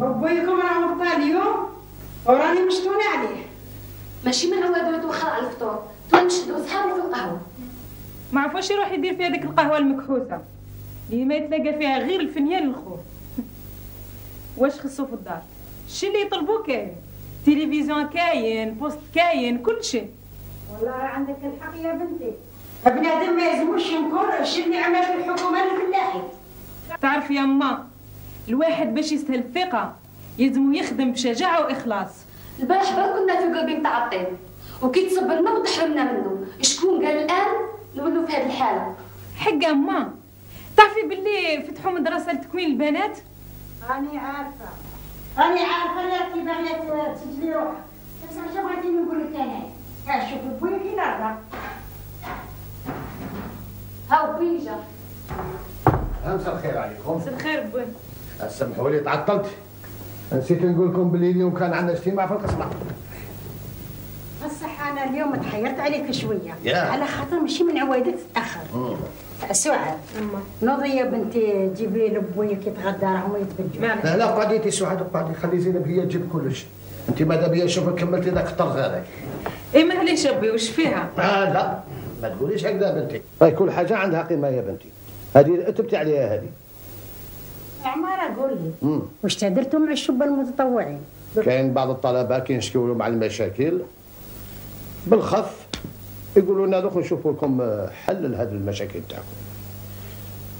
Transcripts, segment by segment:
بويكم راه فطر اليوم وراني مشطونه عليه. ماشي من عوادو يتوخر على الفطور، تو نشدو صحابو في القهوه. ما عرفوش يروح يدير في هذيك القهوه المكحوسه اللي ما يتلاقى فيها غير الفنيان الخوف. واش خصو في الدار؟ الشي اللي يطلبوه كاين، تلفزيون كاين، بوست كاين، كل شيء. والله عندك الحق يا بنتي، بنادم ما يلزموش ينكر الشي اللي عملته الحكومه الفلاحي. تعرف يا ما، الواحد باش يستاهل الثقه يلزمو يخدم بشجاعه واخلاص. البارح برك كنا في قلبي نتاع الطين، وكي تصبرنا وتحرمنا منه، شكون قال الان نولوا في هذه الحاله؟ حق ما، تعرفي باللي فتحوا مدرسه لتكوين البنات؟ راني عارفه يا اختي باغيه تسجلي روحك، بس اش بغيتي نقول لك انا؟ شوفي بويا كي نرضى. هاو بوي جا. مساء الخير عليكم. مساء الخير بوي. سامحوا لي تعطلت، نسيت نقول لكم باللي اليوم كان عندنا اجتماع في القصبة. بصح انا اليوم تحيرت عليك شويه على خاطر ماشي من عوايدك تتاخر. سعاد نوضي يا بنتي جيبي لبويا كي تغدى راهم يتبجوا. لا قعدي انت سعاد وقعدي، خلي زينب هي تجيب كلش. انت ماذا بيا نشوفك كملتي ذاك الطرز هذاك. اي معليش ابوي وش فيها؟ لا ما تقوليش هكذا بنتي. طيب كل حاجه عندها قيمه يا بنتي. هذه اتبتي عليها هذه. عمارة قول لي واش تهدرتوا مع الشبان المتطوعين؟ كاين بعض الطلبه كينشكيو مع المشاكل بالخف، يقولوا لنا دوك نشوفوا لكم حل لهذه المشاكل تاعكم،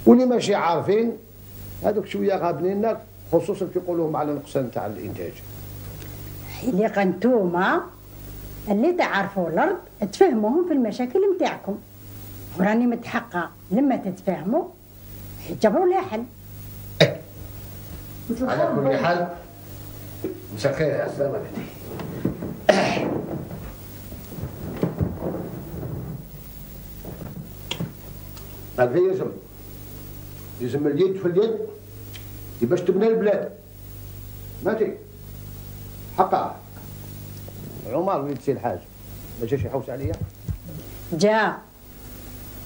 واللي ماشي عارفين هذوك شويه غابنين، خصوصا كيقولوا على النقصان تاع الانتاج. اللي قنتوما اللي تعرفوا الارض تفهموهم في المشاكل نتاعكم، وراني متحقه لما تتفاهموا تجبروا لها حل. على كل حال مساء الخير يا سلامة بنتي. هذا يلزم اليد في اليد باش تبنى البلاد. ماتي حقها. عمر وليد سي الحاج ما جاش يحوس عليا؟ جا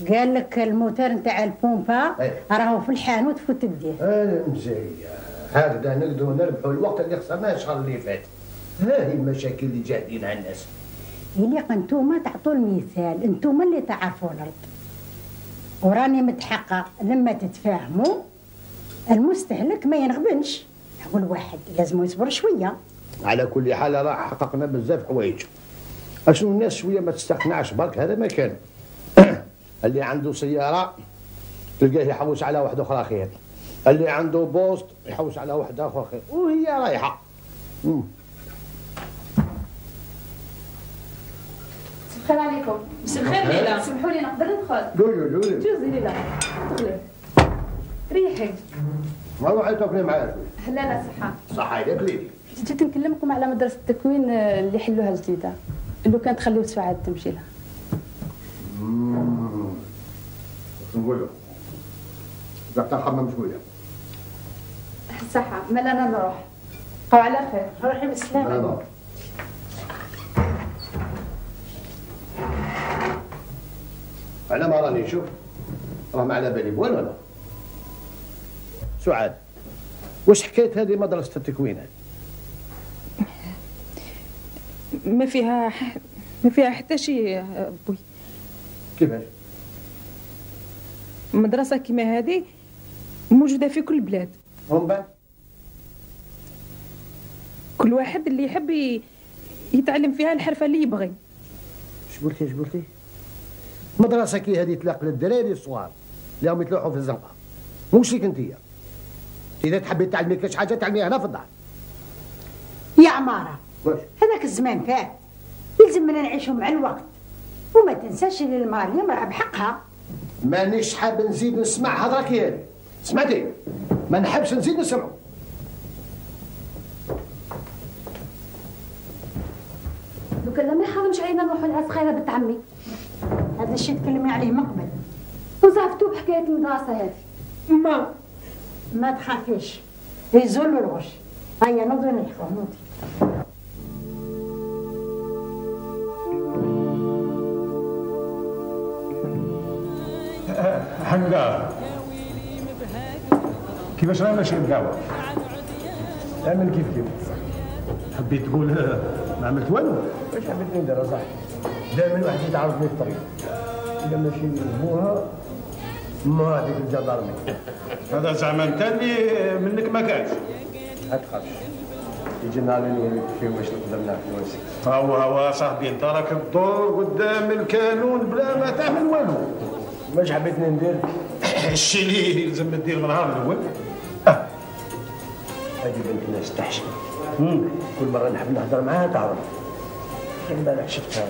قال لك الموتور نتاع البومبا راهو في الحانوت فوت تديه. مزيان هكذا نقدروا نربحوا الوقت اللي خسرناه الشهر اللي فات. هذه المشاكل اللي جاهدين على الناس. اللي انتوما تعطوا المثال، انتوما اللي تعرفوا الارض، وراني متحقق لما تتفاهموا المستهلك ما ينغبنش. هو الواحد لازم يصبر شويه. على كل حال راه حققنا بزاف حوايج. اشنو الناس شويه ما تستقنعش برك، هذا ما كان. اللي عنده سياره تلقاه يحوس على واحده اخرى خير، اللي عنده بوست يحوس على واحده اخرى خير، وهي رايحه. مساء الخير عليكم. مساء الخير ليلى. سمحوا لي نقدر ندخل؟ قولوا جوزي ليلى دخلي ريحي. ما روحي تاكلي معايا. لا صحه. صحه عليك ليدي. جيت نكلمكم على مدرسة التكوين اللي حلوها جديدة، اللي كانت تخليو سعاد تمشي لها. نقول له بدك تخمم شويه. صحه مال انا نروح. بقاو على خير. روحي بالسلامه. على ما راني نشوف راه ما على بالي بوين ولا. سعاد واش حكايه هذه مدرسه التكوين؟ ما فيها حتى شيء يا بوي. كيفاش؟ مدرسة كيما هذه موجودة في كل البلاد. ومن بعد؟ كل واحد اللي يحب يتعلم فيها الحرفة اللي يبغي. اش قلتي؟ مدرسة كي هذه تلاق للدراري الصغار اللي راهم يتلوحوا في الزنقة، موش ليك انتيا. إذا تحبي تعلمي كاش حاجة تعلميها هنا في الدار. يا عمارة واش؟ هذاك الزمان فات، يلزمنا نعيشوا مع الوقت، وما تنساش ان المرأة اليوم راه بحقها. مانيش حاب نزيد نسمع هضرك هذه، سمعتي؟ ما نحبش نزيد نسمعو. لو كان ما يحرمش علينا نروحوا لها صغيره بنت عمي. هذا الشيء تكلمي عليه من قبل. وزعفتوا بحكايه المدرسه هذه. ما تخافيش، يزول الغش. هيا نوضي نحكوا نوضي. حمدان كيفاش راه ماشي القهوه؟ اعمل كيف كيف. حبيت تقول ما عملت والو؟ واش حبيت ندير صاحبي؟ دائما واحد يتعرضني في الطريق. اذا ماشي موها ما هذيك الجدارمي. هذا زعما انت اللي منك ما كانش. ما تخافش. يجي نهار اللي نوريك فيه واش نقدر نعمل واسك. هو صاحبي انت راك تدور قدام الكانون بلا ما تعمل والو. واش حبيتني ندير؟ الشيء اللي يلزم دير من النهار الاول. هذه بنت ناس تحشم. كل مره نحب نهضر معاها تعرف. امبارح شفتها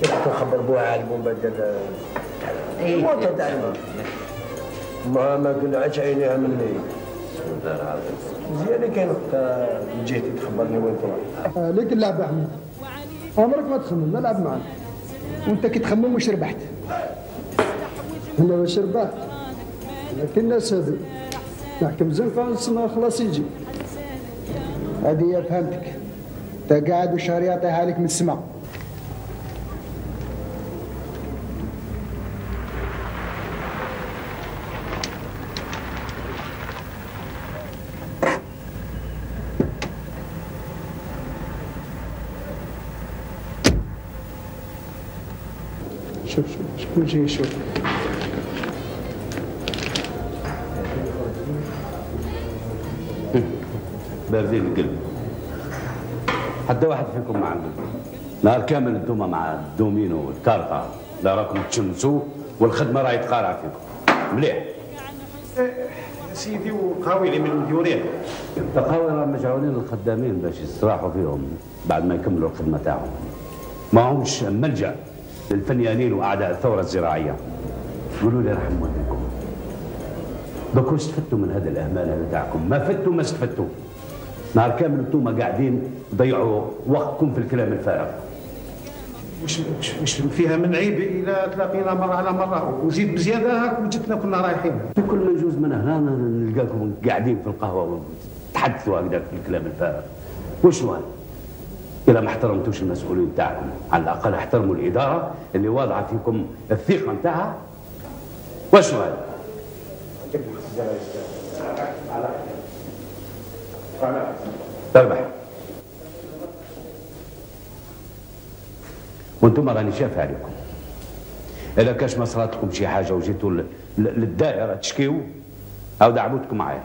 كنت نخبر بوها على البومبا ديال الموتور تاع ما قلعتش عينيها مني. مزيان كاين وقتها من جهتي تخبرني وين تروح. ليك اللعبه احمد، عمرك ما تخمم، نلعب معاك وانت كي تخمم واش ربحت. انا واش ربحت؟ لكن الناس هذو نحكم زنقه نسمع خلاص يجي. هذه فهمتك، انت قاعد وشهر يعطيها لك من السماء. شوف شكون جاي يشوف. باردين القلب، حتى واحد فيكم ما عنده. نهار كامل انتوما مع الدومينو والكارطة، لا راكم تشمسوا والخدمة راهي تقارع فيكم. مليح. يا سيدي وقهاوي اللي من المديورين. القهاوي راه مجعولين للخدامين باش يستراحوا فيهم بعد ما يكملوا الخدمة تاعهم. ما هوش ملجأ للفنيانين واعداء الثورة الزراعية. قولوا لي رحم والديكم، دوك واش استفدتوا من هذا الاهمال هذا تاعكم؟ ما فتوا ما استفدتوا. نهار كامل انتوما قاعدين تضيعوا وقتكم في الكلام الفارغ. وش فيها من عيب اذا تلاقينا مره على مره وزيد بزياده هاك وجدنا كنا رايحين. كل ما يجوز من هنا نلقاكم قاعدين في القهوه وتحدثوا هكذا في الكلام الفارغ. وشنو هذا؟ اذا ما احترمتوش المسؤولين تاعكم، على الاقل احترموا الاداره اللي واضعه فيكم الثقه نتاعها. وشنو هذا؟ تربح. وانتم راني شاف عليكم. اذا كاش ما صرات لكم شي حاجه وجيتوا للدائره تشكيو، او دعوتكم معايا.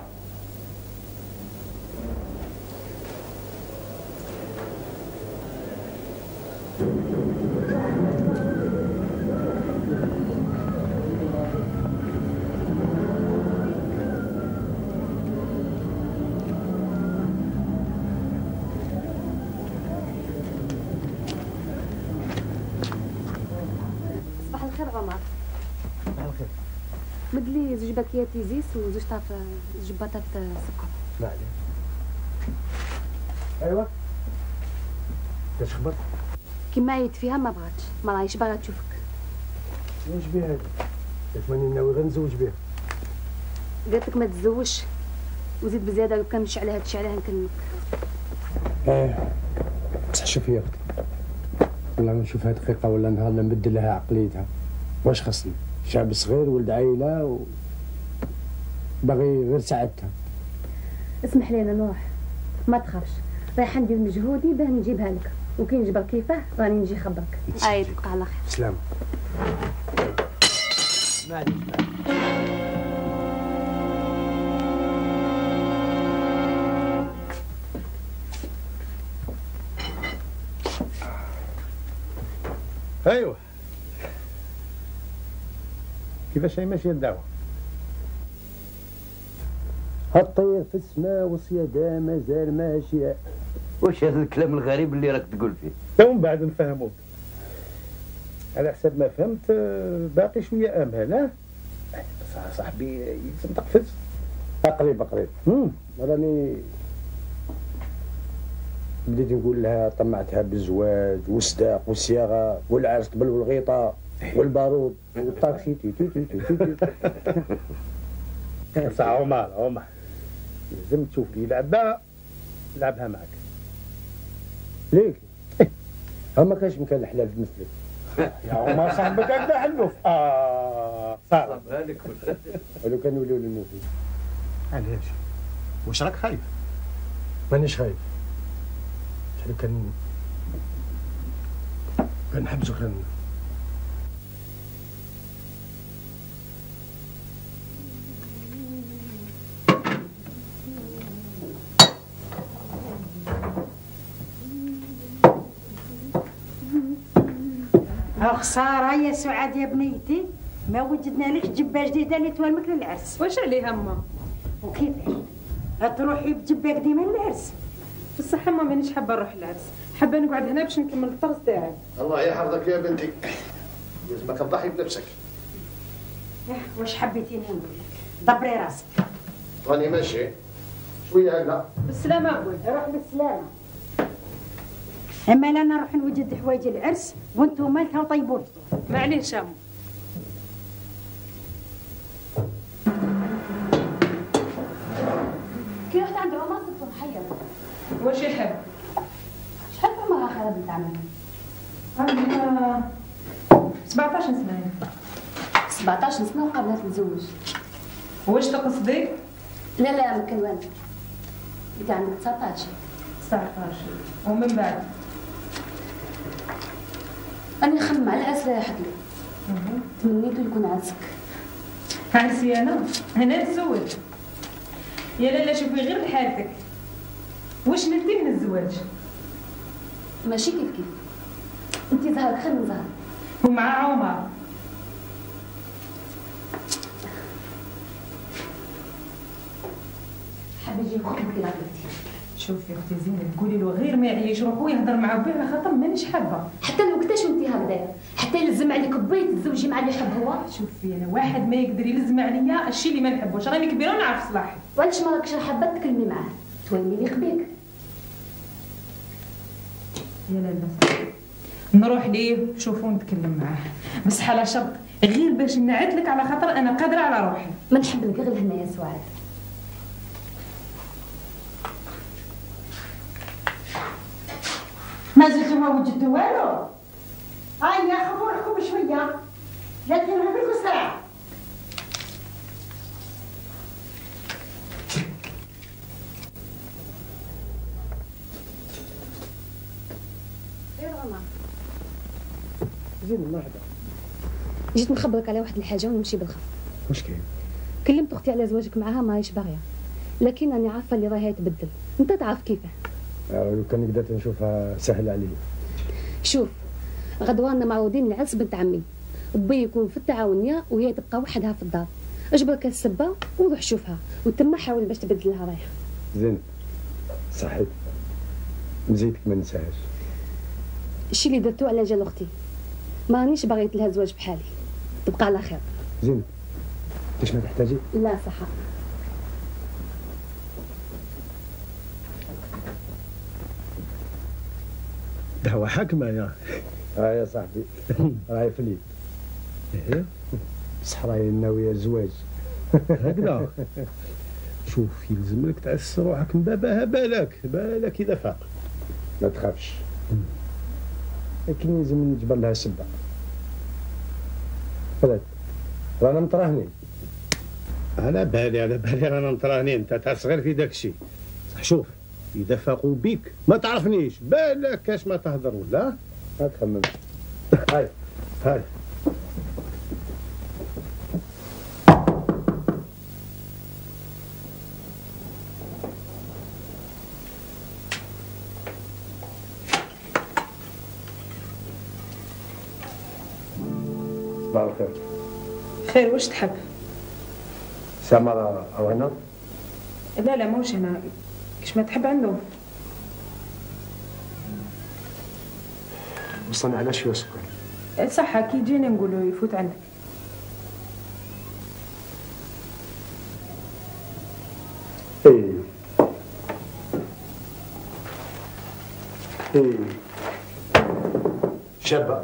مدلي زوج باكيات زيس وزوج طاف زوج بطاط سكر. معليش. ايوا اش خبر؟ كيما عيط فيها ما بغاتش، ما راهيش باغا تشوفك. واش بها هذه؟ قالت ماني ناوي غير نزوج بها. قالت لك ما تتزوجش وزيد بزياده لو كان نمشي على هاد الشيء علاه نكلمك. بصح شوفي يا اختي، والله نشوفها دقيقه ولا نهار نبدل لها عقليتها. واش خصني؟ شعب صغير ولد عائله باغي غير سعادتها. اسمح لي انا نروح، ما تخافش، رايحه ندير مجهودي باه نجيبها لك، وكي نجبر كيفاه راني نجي خبرك. اي تبقى على خير. سلام. معليش ايوه كيفاش هي ماشيه الدعوه؟ الطير في السماء والصيادة مازال ماشية. واش هذا الكلام الغريب اللي راك تقول فيه؟ تو من بعد نفهموك. على حسب ما فهمت باقي شويه امل. بصح صاحبي يلزم تقفز. قريب راني بديت نقول لها طمعتها بالزواج والصداق والصياغه والعرس قبل والغيطه والبارود والطاكسي تي تي تي تي تي. بصح عمر لازم تشوف لي لعبه لعبها معك. ليك ما كانش مكان الحلال مثلك يا عمر صاحبك هكذا حلوف. صار ولو كان نوليو للموفي. علاش؟ واش راك خايف؟ مانيش خايف. كان نحبسو خلالنا. خسارة يا سعاد يا بنيتي، ما وجدنا لك جبة جديدة اللي توالمك للعرس. واش عليها أما؟ وكيفاش؟ تروحي بجبة قديمة للعرس؟ بصح أما مانيش حابة نروح للعرس، حابة نقعد هنا باش نكمل الطرس تاعي. الله يحفظك يا بنتي، لازمك تضحي بنفسك. واش حبيتيني نقول لك؟ دبري راسك. راني ماشي شوية هكذا. بالسلامة أبوي. روح بالسلامة. اما انا نروح نوجد حوايج العرس وانتم مالتها طيبوا الفطور. معليش أما. كي رحت عند عمر صرت محيرة. واش يحب؟ شحال عمرها خالة بنت عمي؟ عندها 17 سنة. 17 سنة وقبلها تتزوج. واش تقصدي؟ لا ما كان والو. انت عندك 19. 19 ومن بعد؟ أنا نخمم على العرس لا يحضر. تمنيتو يكون عرسك. عرسي أنا نتزوج. يا لالا شوفي غير لحالتك. واش نلتي من الزواج؟ ماشي كيف انت زهرك خير من زهر. ومع عمر. حابة يجي يخطبك إلى بنتي. شوفي اختي زينب قولي له غير ما يعيش روحو يهضر مع بيه على خاطر مانيش حابه. حتى لو كنتاش وانت هكذايا، حتى يلزم عليك بي تتزوجي مع اللي يحب هو. شوفي انا واحد ما يقدر يلزم عليا الشيء اللي ما نحبوش، راني كبيره ونعرف صلاحي. وعلاش ما راكش حابه تكلمي معاه؟ توالمي لي بيك. يا لالا نروح ليه شوفوا نتكلم معاه، بس على شرط غير باش نعد لك على خاطر انا قادره على روحي. ما نحب لك غير هنا يا سعاد. ما زلتوا ما وجدتوا والو. هيا خذوا روحكم بشويه، لا تنهبوا لكم سرعه. خير عمر. زين مرحبا. جيت نخبرك على واحد الحاجه ونمشي بالخف. واش كاين؟ كلمت اختي على زواجك معها ماهيش باغيه، لكن راني عارفه اللي راهي تبدل، انت تعرف كيفاه. لو كان قدرت نشوفها سهل عليا. شوف غدوانا معروضين لعرس بنت عمي، بي يكون في التعاونيه وهي تبقى وحدها في الدار. اجبرك السبه وروح شوفها وتما حاول باش تبدل لها رايها. زين صحيت، مزيتك ما ننساهاش. الشي اللي درتو على جال اختي، ما رانيش باغيت لها زواج بحالي، تبقى على خير. زين ليش ما تحتاجي؟ لا صح. دعوة حاكمة يا صاحبي. راهي في اليد. ايه بصح راهي ناوية الزواج. هكذا. شوف يلزم لك تعس روحك من بابها، بالك اذا فاق. ما تخافش، لكن لازم نجبر لها سبة. فلات رانا متراهنين. على بالي رانا متراهنين، انت تعس غير في داك الشيء. صح شوف اذا فاقوا بيك ما تعرفنيش، بالك كاش ما تهضر ولا ما تخممش. هاي صباح الخير. خير واش تحب؟ سامرة أو هنا؟ لا ماهوش هنا، كيش ما تحب عنده. وصلنا على شوية سكر. صح كي يجيني نقولوا يفوت عندك. ايه شابة،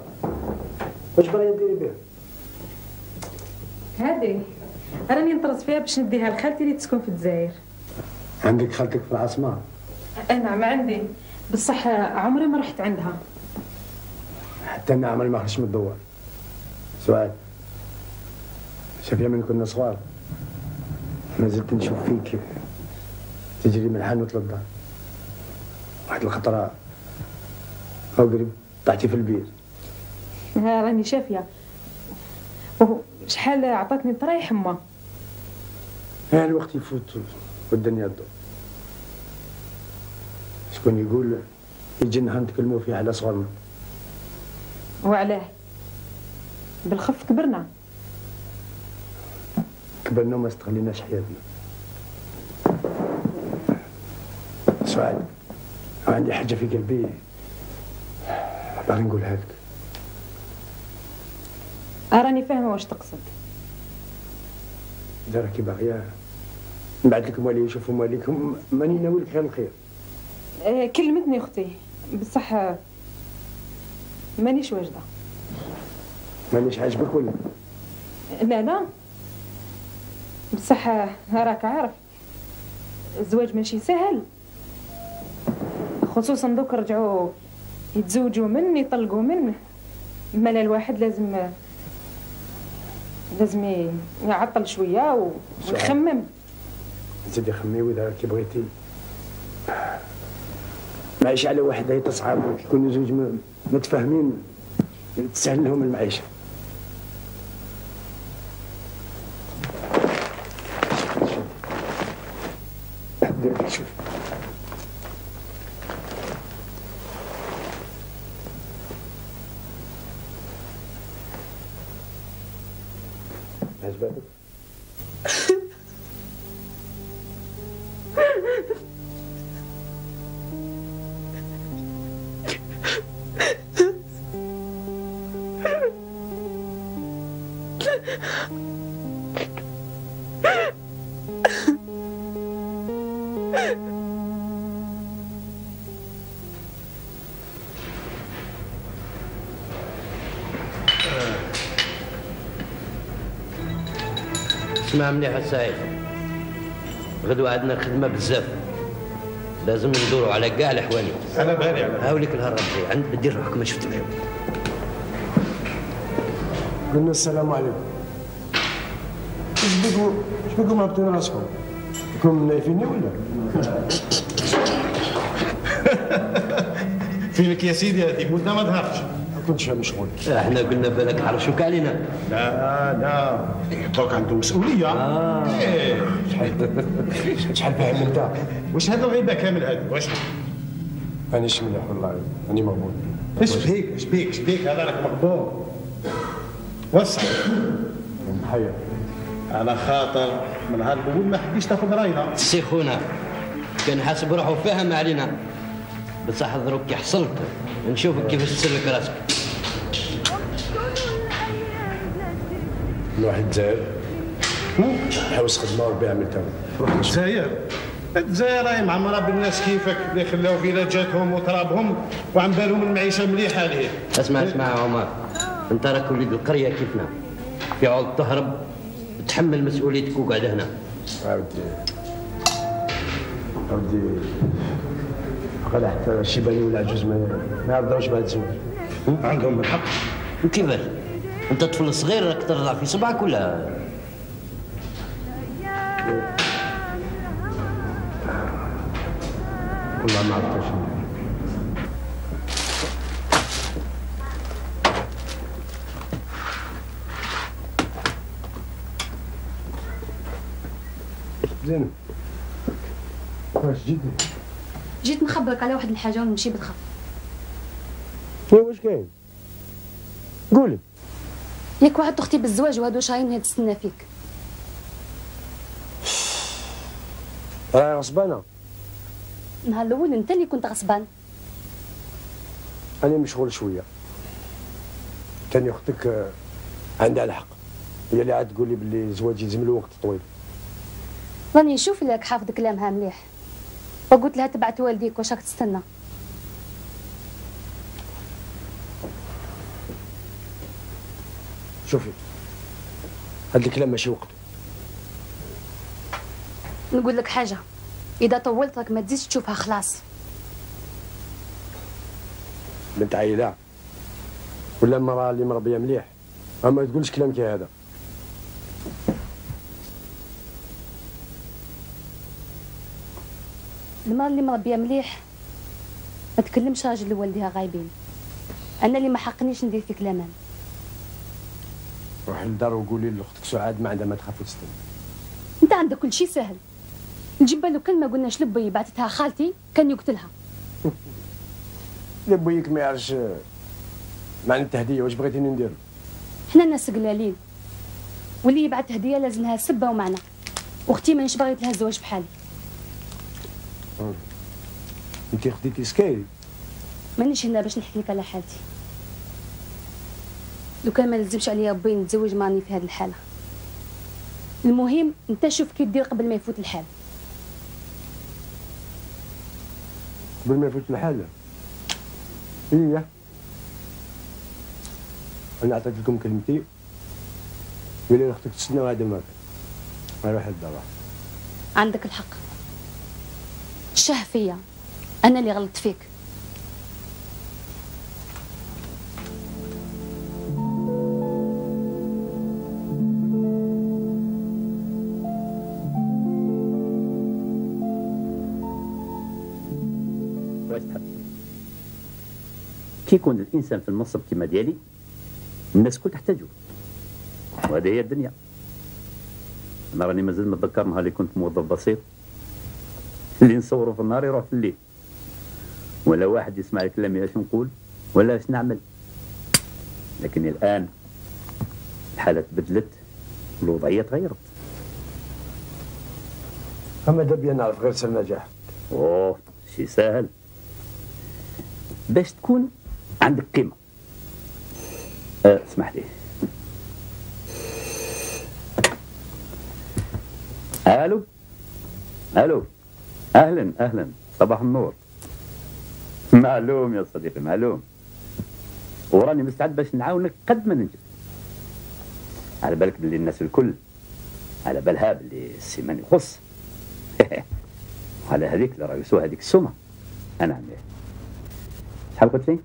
واش باغية ديري بها؟ هذه راني نطرز فيها باش نديها لخالتي اللي تسكن في الجزائر. عندك خالتك في العاصمة؟ نعم عندي، بصح عمري ما رحت عندها. حتى أنا عمري ما خرجت من الدوار. سؤال، شافيا من كنا صغار ما زلت نشوف فيك تجري من الحانوت للدار، واحد الخطره هاو قريب طحتي في البير. ها راني شافيه. شحال عطاتني طرايح ما. ها الوقت يفوت والدنيا تدور. شكون يقول يجي نهار نتكلموا فيه على صغرنا. وعلاه؟ بالخف كبرنا. كبرنا وما استغليناش حياتنا. سعاد عندي حاجه في قلبي باغي نقولها لك. راني فاهمه واش تقصد. اذا راكي باغيه نبعث لك موالي يشوفوا مواليكم، ماني ناوي لك غير الخير. كلمتني اختي بصح مانيش واجده. مانيش عاجبك ولا؟ لا لا بصح راك عارف الزواج ماشي سهل، خصوصا دوك رجعوا يتزوجوا من يطلقوا من مالا الواحد لازم يعطل شويه ويخمم. زيدي خمي واذا راكي بغيتي معيشه على واحد هي تصعب، يكونوا زوج متفاهمين تسهل لهم المعيشه. شوف عجبتك؟ اسمع مليح السعيد، غدوة عندنا خدمة بزاف، لازم ندوروا على كاع الحواني. انا بالي على هاوليك الهرب جاي عند بدي روحك ما شفتوش. قلنا السلام عليكم. اش بكم رابطين راسكم؟ راكم نايفيني ولا؟ فينك يا سيدي هذيك وانت ما ظهرتش. ما كنتش مشغول. احنا قلنا بالك حرشوك علينا. لا دوك عندهم مسؤوليه. ايه شحال فاهم انت؟ واش هذا الغيبه كامل هذا واش؟ مانيش مليح والله، راني مغبون. اش بيك هذا راك مغبون. وسع محيا على خاطر من نهار الاول ما حبيتش تاخذ راينا. سي خونا كان حاسب روحه فاهم علينا، بصح دروك كي حصلت نشوفك كيفاش تسلك راسك. نروح الجزائر نحوس خدمه وربي عملتها. الجزائر راهي معمره بالناس كيفك اللي خلاو فيلاجاتهم وترابهم وعم بالهم المعيشه مليحه عليه. اسمع يا عمر، انت راك وليد القريه كيفنا، في عوض تهرب تحمل مسؤوليتك وقعد هنا. عودي قال حتى الشيباني والعجوز ما يرضاوش بعد الزواج. عندهم الحق. وكيفاش؟ انت طفل صغير راك ترضع في صبعك ولا؟ والله ما عرفتش. زين واش جيت نخبرك على واحد الحاجه ونمشي بالخف. واش كاين؟ قولي. ياك وعدت اختي بالزواج وهادو شهرين هي تستنى فيك. راهي غصبانه. النهار الاول انت اللي كنت غصبان. انا مشغول شويه. تاني اختك عندها الحق، هي اللي عاد تقول لي باللي الزواج يلزم له وقت طويل. راني نشوف لك حافظ كلامها مليح، وقلت لها تبعت والديك واش راك تستنى. شوفي هاد الكلام ماشي وقته. نقول لك حاجه، اذا طولت راك ما تزيدش تشوفها خلاص. بنت عيله ولا مرأة اللي مربيه مليح، اما تقولش كلام كي هذا. المرأة اللي مربيه مليح ما تكلمش راجل اللي والديها غايبين. انا اللي ما حقنيش ندير فيك الامان. روحي للدار وقولي لاختك سعاد ما عندها ما تخاف وتستنى. انت عندك كل شيء سهل. الجبه لو كلمه قلنا لبي بعثتها خالتي كان يقتلها. لبيك ما يعرفش معنى التهديه. واش بغيتيني ندير؟ حنا ناس قلالين، واللي يبعث هديه لازم لها سبه ومعنى. واختي مانيش باغيت لها الزواج بحالي. انت خديتي سكاي؟ مانيش هنا باش نحكي لك على حالتي. لو كان ما لزمش عليا ربي نتزوج ماني في هذه الحاله. المهم انت شوف كي دير قبل ما يفوت الحال. قبل ما يفوت الحال؟ ايه انا عطيت لكم كلمتي. قولي لاختك تستنى وهذا ما كان. روح للدار. عندك الحق. شه فيا انا اللي غلطت فيك. كي يكون الانسان في المنصب كما ديالي الناس الكل تحتاجه، وهذه هي الدنيا. انا راني مازال متذكر نهار اللي كنت موظف بسيط اللي نصوروا في النهار يروح في الليل، ولا واحد يسمع كلامي اش نقول ولا اش نعمل. لكن الان الحاله تبدلت والوضعيه تغيرت. اما دابا نعرف غير سر النجاح. اوه شي ساهل باش تكون عندك قيمه. اسمح لي. الو الو، اهلا اهلا، صباح النور. معلوم يا صديقي معلوم، وراني مستعد باش نعاونك قد ما ننجم. على بالك باللي الناس الكل على بالها باللي السيمان يخص. على هذيك اللي رايسوها هذيك السمه. انا عمي شحال قلت لي؟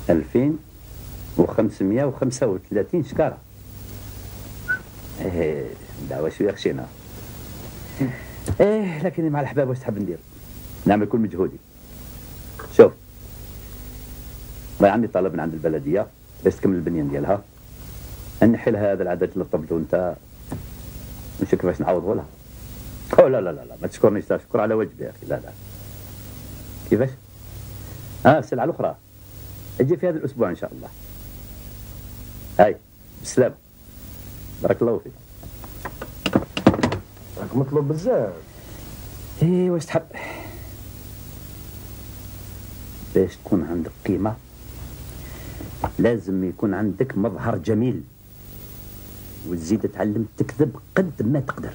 2535 شكاره. دعوه شويه خشينا. لكن مع الحباب واش تحب ندير؟ نعمل كل مجهودي. شوف ما عندي طلب من عند البلديه باش تكمل البنيان ديالها، نحي لها هذا العدد اللي طلبته انت، نشوف كيفاش نعوضه لها. لا لا لا لا ما تشكرنيش، شكر على وجبي يا اخي. لا لا كيفاش؟ السلعه الاخرى اجي في هذا الاسبوع ان شاء الله. هاي بالسلامه، بارك الله فيك. راك مطلوب بزاف. واش تحب؟ باش تكون عندك قيمه لازم يكون عندك مظهر جميل، وتزيد تعلم تكذب قد ما تقدر،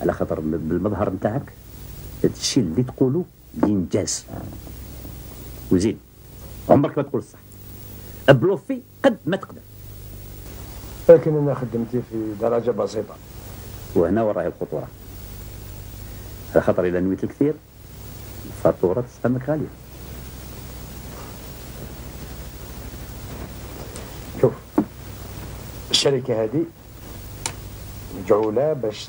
على خاطر بالمظهر نتاعك الشيء اللي تقوله ينجاز. وزيد عمرك ما تقول الصح، بلوفي قد ما تقدر. لكن انا خدمتي في درجه بسيطه، وهنا وراهي الخطوره، على خاطر اذا نويت الكثير الفاتوره تستمك غاليه. شوف الشركه هذه مجعوله باش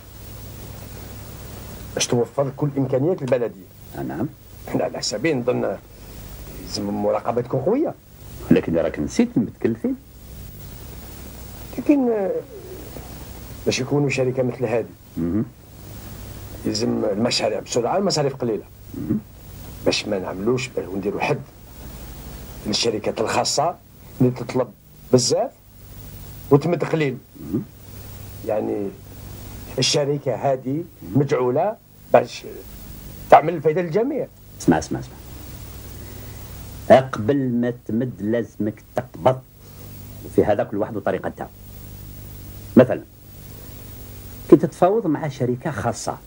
توفر كل امكانيات البلديه. نعم. احنا على حسابي نظن لازم المراقبه تكون قويه. لكن راك نسيت المتكلفين. لكن باش يكونوا شركه مثل هذه يلزم المشاريع بسرعه، المصاريف قليله، باش ما نعملوش ونديروا حد للشركات الخاصه اللي تطلب بزاف وتمد قليل. يعني الشركه هذه مجعوله باش تعمل الفائده للجميع. اسمع اسمع اسمع، قبل ما تمد لازمك تقبض، وفي هذا كل واحد وطريقه تاعو. مثلا كي تتفاوض مع شركه خاصه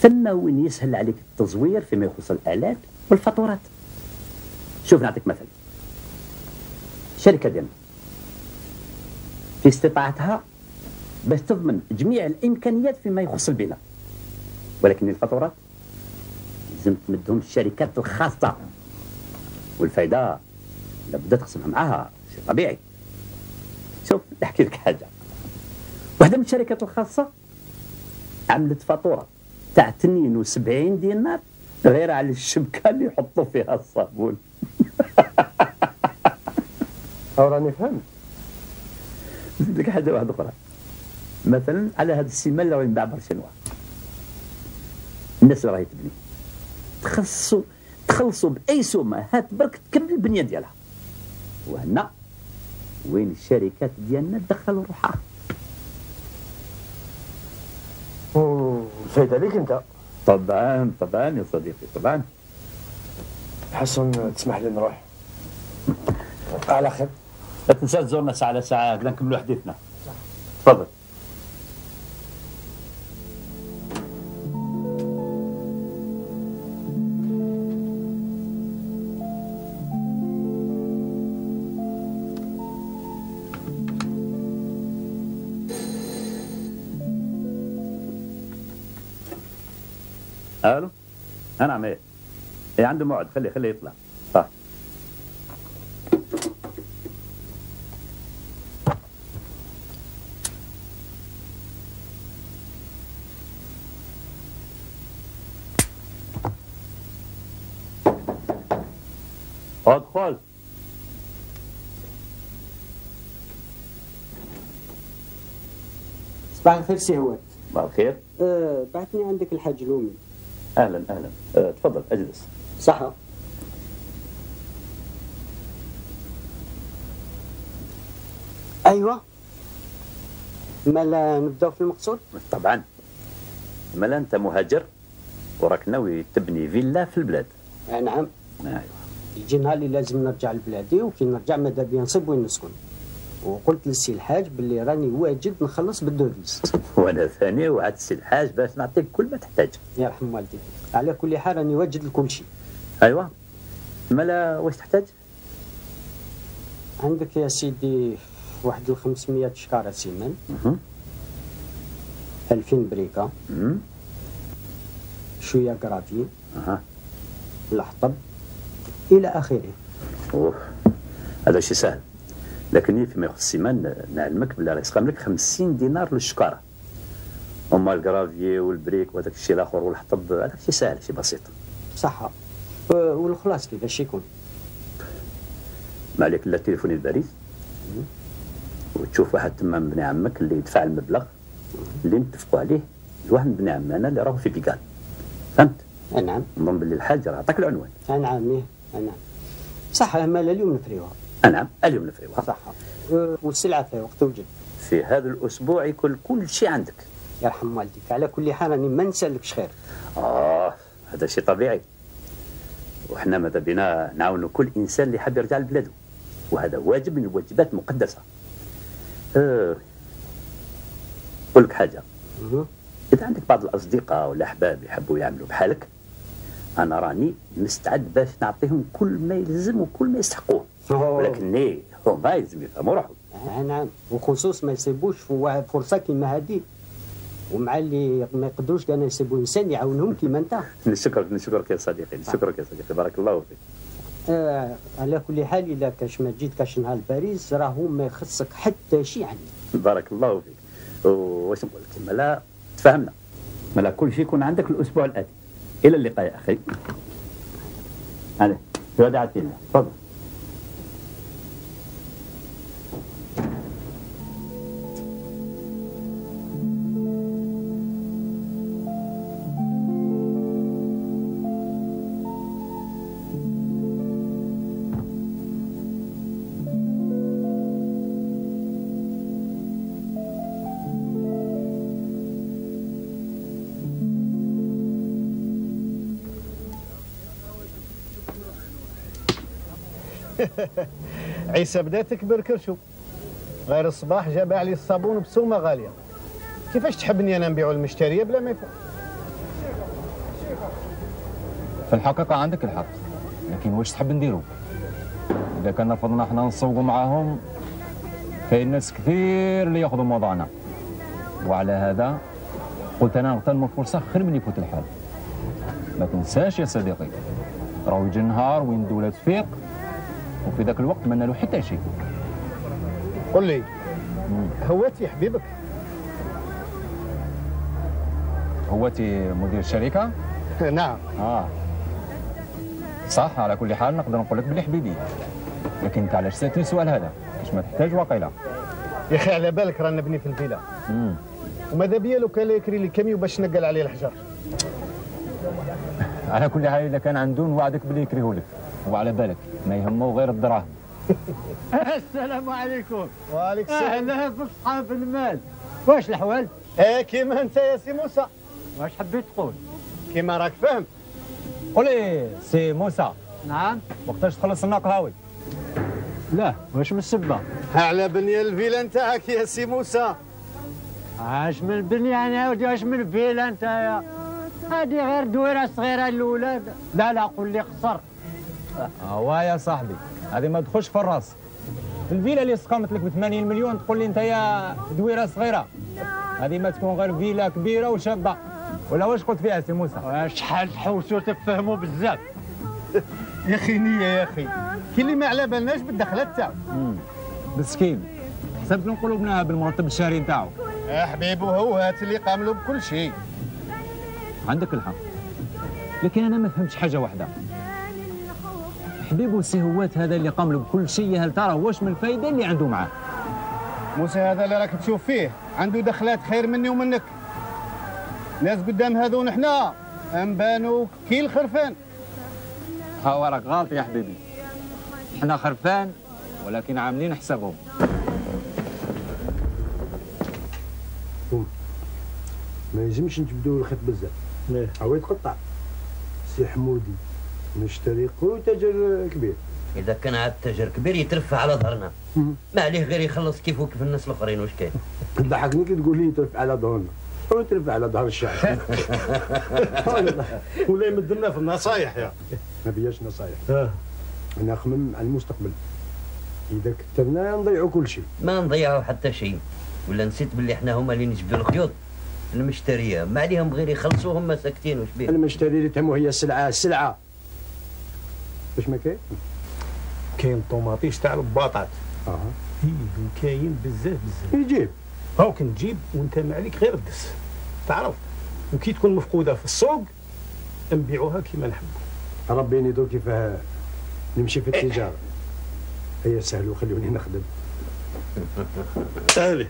ثم وين يسهل عليك التزوير فيما يخص الالات والفاتورات. شوف نعطيك مثل، الشركه ديالنا في استطاعتها باش تضمن جميع الامكانيات فيما يخص البناء، ولكن الفاتورات لازم تمدهم الشركات الخاصه، والفائده لابد تقسمها معاها، شيء طبيعي. شوف نحكي لك حاجه، واحده من الشركات الخاصه عملت فاتوره تاع 72 دينار غير على الشبكه اللي يحطوا فيها الصابون. راني فهمت. نزيد لك حاجه واحده اخرى، مثلا على هذا السيمان اللي راه ينباع برشا انواع، الناس اللي راهي تبني تخلصوا باي سمه هات برك تكمل البنيه ديالها، وهنا وين الشركات ديالنا دخلوا روحها. الفايده ليك انت. طبعا يا صديقي طبعا. حسن تسمح لي نروح. على خير. لا تنسى تزورنا ساعه على ساعه هكذا نكملوا حديثنا. تفضل. الو. نعم ايه عنده موعد، خليه يطلع. ادخل. صباح الخير سي هوات. صباح الخير. بعثني عندك الحاج لومي. اهلا تفضل اجلس. صحة. ايوه مالا نبداو في المقصود؟ طبعا. مالا انت مهاجر وراك ناوي تبني فيلا في البلاد. نعم. ايوه. يجي نهار اللي لازم نرجع لبلادي، وكي نرجع ماذا بيا نصيب وين نسكن. وقلت للسي الحاج باللي راني واجد نخلص بالدوفيز. وانا ثاني وعد السي الحاج باش نعطيك كل ما تحتاج. يرحم والديك. على كل حال راني واجد لكل شيء. ايوه. مالا واش تحتاج؟ عندك يا سيدي واحد 500 شكاره سيمان. 2000 بريكه. شويه كرافي. الحطب الى اخره. اوه هذا شيء سهل، لكن فيما يخص السيمان نعلمك بلي راه يسقم لك 50 دينار للشكاره. اما الكرافي والبريك وهذاك الشيء الاخر والحطب هذاك شيء سهل، شيء بسيط. صح. والخلاص كيفاش يكون؟ ما عليك الا تليفوني الباريس وتشوف واحد تما من بني عمك اللي يدفع المبلغ اللي نتفقوا عليه لواحد من بني عمنا اللي راهو في بيكال. فهمت؟ نعم. نظن باللي الحاج راه عطاك العنوان. نعم. نعم. صح. مالا اليوم نفريوها. نعم اليوم نفريوها. صح. والسلعه في وقت توجد. في هذا الاسبوع يكون كل شيء عندك. يرحم والديك. على كل حال راني ما نسالكش خير. هذا شيء طبيعي، وحنا ماذا بينا نعاونوا كل انسان اللي حاب يرجع لبلاده، وهذا واجب من الواجبات المقدسه. نقول لك حاجه، اذا عندك بعض الاصدقاء والاحباب يحبوا يعملوا بحالك، انا راني مستعد باش نعطيهم كل ما يلزم وكل ما يستحقوه، ولكن هما يلزم يفهموا روحهم. نعم. وخصوص ما يصيبوش في فرصه كيما هذه، ومع اللي ما يقدروش كانوا يسيبوا انسان يعاونهم كيما انت. نشكرك يا صديقي، نشكرك يا صديقي، بارك الله فيك. على كل حال الا كاش ما جيت كاش نهار باريس راهو ما يخصك حتى شيء عني. بارك الله فيك. واش نقول لك، مالا تفهمنا، مالا كل شيء يكون عندك الاسبوع الاتي. الى اللقاء يا اخي. هذا وداعة الله. تفضل. عيسى بدا تكبر كرشو، غير الصباح جاب علي الصابون بسومه غاليه. كيفاش تحبني انا نبيعو المشتريه بلا ما يفهم؟ في الحقيقه عندك الحق، لكن واش تحب نديرو؟ اذا كان رفضنا احنا نسوقوا معاهم كاين ناس كثير اللي ياخذوا موضعنا، وعلى هذا قلت انا نغتنم الفرصه خير من يفوت الحال. ما تنساش يا صديقي، راهو يجي النهار وين الدوله تفيق وفي ذاك الوقت ما نالو حتى شيء. قل لي، هواتي حبيبك؟ هواتي مدير الشركه؟ نعم. صح، على كل حال نقدر نقول لك بلي حبيبي، لكن انت علاش سالتني السؤال هذا؟ كاش ما تحتاج واقيلا. يا اخي على بالك رانا نبني في الفيلا، وماذا بيا لو كان يكري لي كاميو باش نقل عليه الحجر. على كل حال اذا كان عنده نوعدك بلي يكريه لك، وعلى بالك ما يهمه غير الدراهم. السلام عليكم. وعليكم السلام. اهلا بصحاب المال. واش الحوال؟ كيما انت يا سي موسى. واش حبيت تقول؟ كيما راك فاهم. قول لي سي موسى. نعم. وقتاش تخلص لنا قهاوي؟ لا واش من السبه؟ على بنيه الفيلا نتاعك يا سي موسى. اش من بنيه انا ودي اش من فيلا نتايا؟ هذه غير دويره صغيره للولاد. لا قول لي قصر. هو يا صاحبي هذه ما تدخلش في الراس. الفيلا اللي سقمت لك ب 80 مليون تقول لي انت يا دويره صغيره. هذه ما تكون غير فيلا كبيره وشابه. ولا واش قلت فيها سي موسى؟ شحال تحوسوا تفهموا بزاف. يا اخي نيه يا اخي، كي اللي ما على بالناش بالدخلات تاعو. مسكين حسبت نقولوا بناها بالمرتب الشهري نتاعو. يا حبيبي هو هات اللي قاملوا بكل شيء. عندك الحق، لكن انا ما فهمتش حاجه واحده. حبيبو السي هوات هذا اللي قام له بكل شيء، هل ترى واش من الفائده اللي عنده معاه؟ موسى هذا اللي راك تشوف فيه عنده دخلات خير مني ومنك. ناس قدام هذون حنا انبانوا كي الخرفان. هاو راك غلط يا حبيبي، حنا خرفان ولكن عاملين حسابهم. ما يلزمش نجبدوا الخيط بزاف، هو يتقطع. سي حمودي نشتري قوي تاجر كبير. اذا كان عاد تاجر كبير يترفع على ظهرنا، ما عليه غير يخلص كيف وكيف الناس الاخرين. واش كاين؟ تضحكني كي تقول لي يترفع على ظهرنا، هو يترفع على ظهر الشعب. ولا يمدنا في النصايح يا ما بياش نصايح. انا نخمم على المستقبل. اذا كثرنا نضيعوا كل شيء. ما نضيعوا حتى شيء. ولا نسيت باللي احنا هما اللي نجبدوا الخيوط المشتريه، ما عليهم غير يخلصوا هما ساكتين. واش بيه؟ المشتري اللي تهمه هي السلعه. واش ما كاين؟ كاين طوماطيش تاع البطاط. كاين بزاف يجيب. هاو كنجيب وانت ما عليك غير الدس، تعرف. وكي تكون مفقوده في السوق نبيعوها كيما نحبوا. ربي ينيدو كيف نمشي في التجاره. هي سهل وخلوني نخدم. سهله.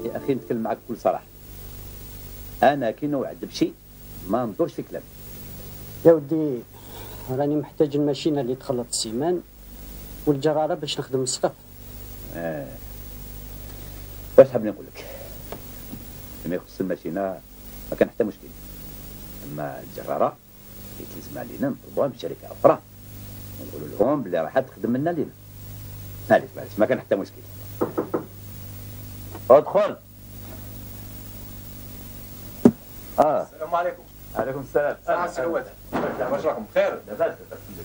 يا اخي نتكلم معك بكل صراحه، انا كي نوعد بشيء ما ندورش في كلامي. يا ودي راني محتاج الماشينه اللي تخلط السيمان والجراره باش نخدم السقف. واش حاب نقول لك؟ فيما يخص الماشينه ما كان حتى مشكل، اما الجراره يتلزم علينا نطلبوها من شركه اخرى ونقولوا لهم بلي راح تخدم لنا لينا. معليش ما كان حتى مشكل. ادخل. السلام عليكم. عليكم السلام. سي هوات. واش راكم بخير؟ لاباس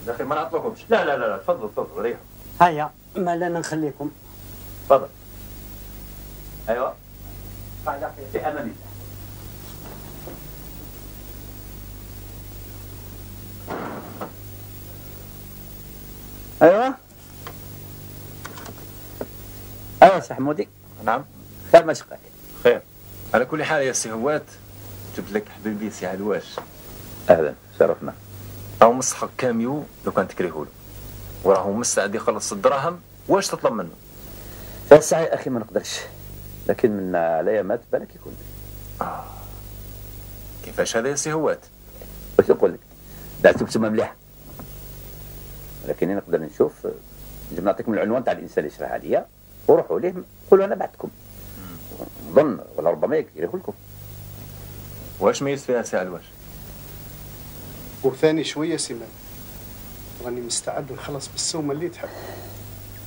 بخير، ما نعطلكمش. لا تفضل ريحوا. هيا ما لنا نخليكم. تفضل. ايوا في امان الله. ايوا سي حمودي. نعم. خير ما شقاك. خير. على كل حال يا سي هوات جبت لك حبيبي سي علواش. اهلا شرفنا. راهو مستحق كاميو لو كان تكرهوا له، وراهو مستعد يخلص الدراهم. واش تطلب منه؟ يا سعي اخي ما نقدرش، لكن من عليا ما بالك يكون. كيفاش هذا يا سي هوات؟ واش نقول لك؟ دعت بسمه مليحه، ولكن نقدر نشوف نجم نعطيكم العنوان تاع الانسان اللي شراه عليا وروحوا ليه قولوا انا بعتكم. نظن ولا ربما يكرهوا لكم. واش ميز فيها سي علواش؟ وثاني شويه سيمان، راني مستعد نخلص بالسومه اللي تحب.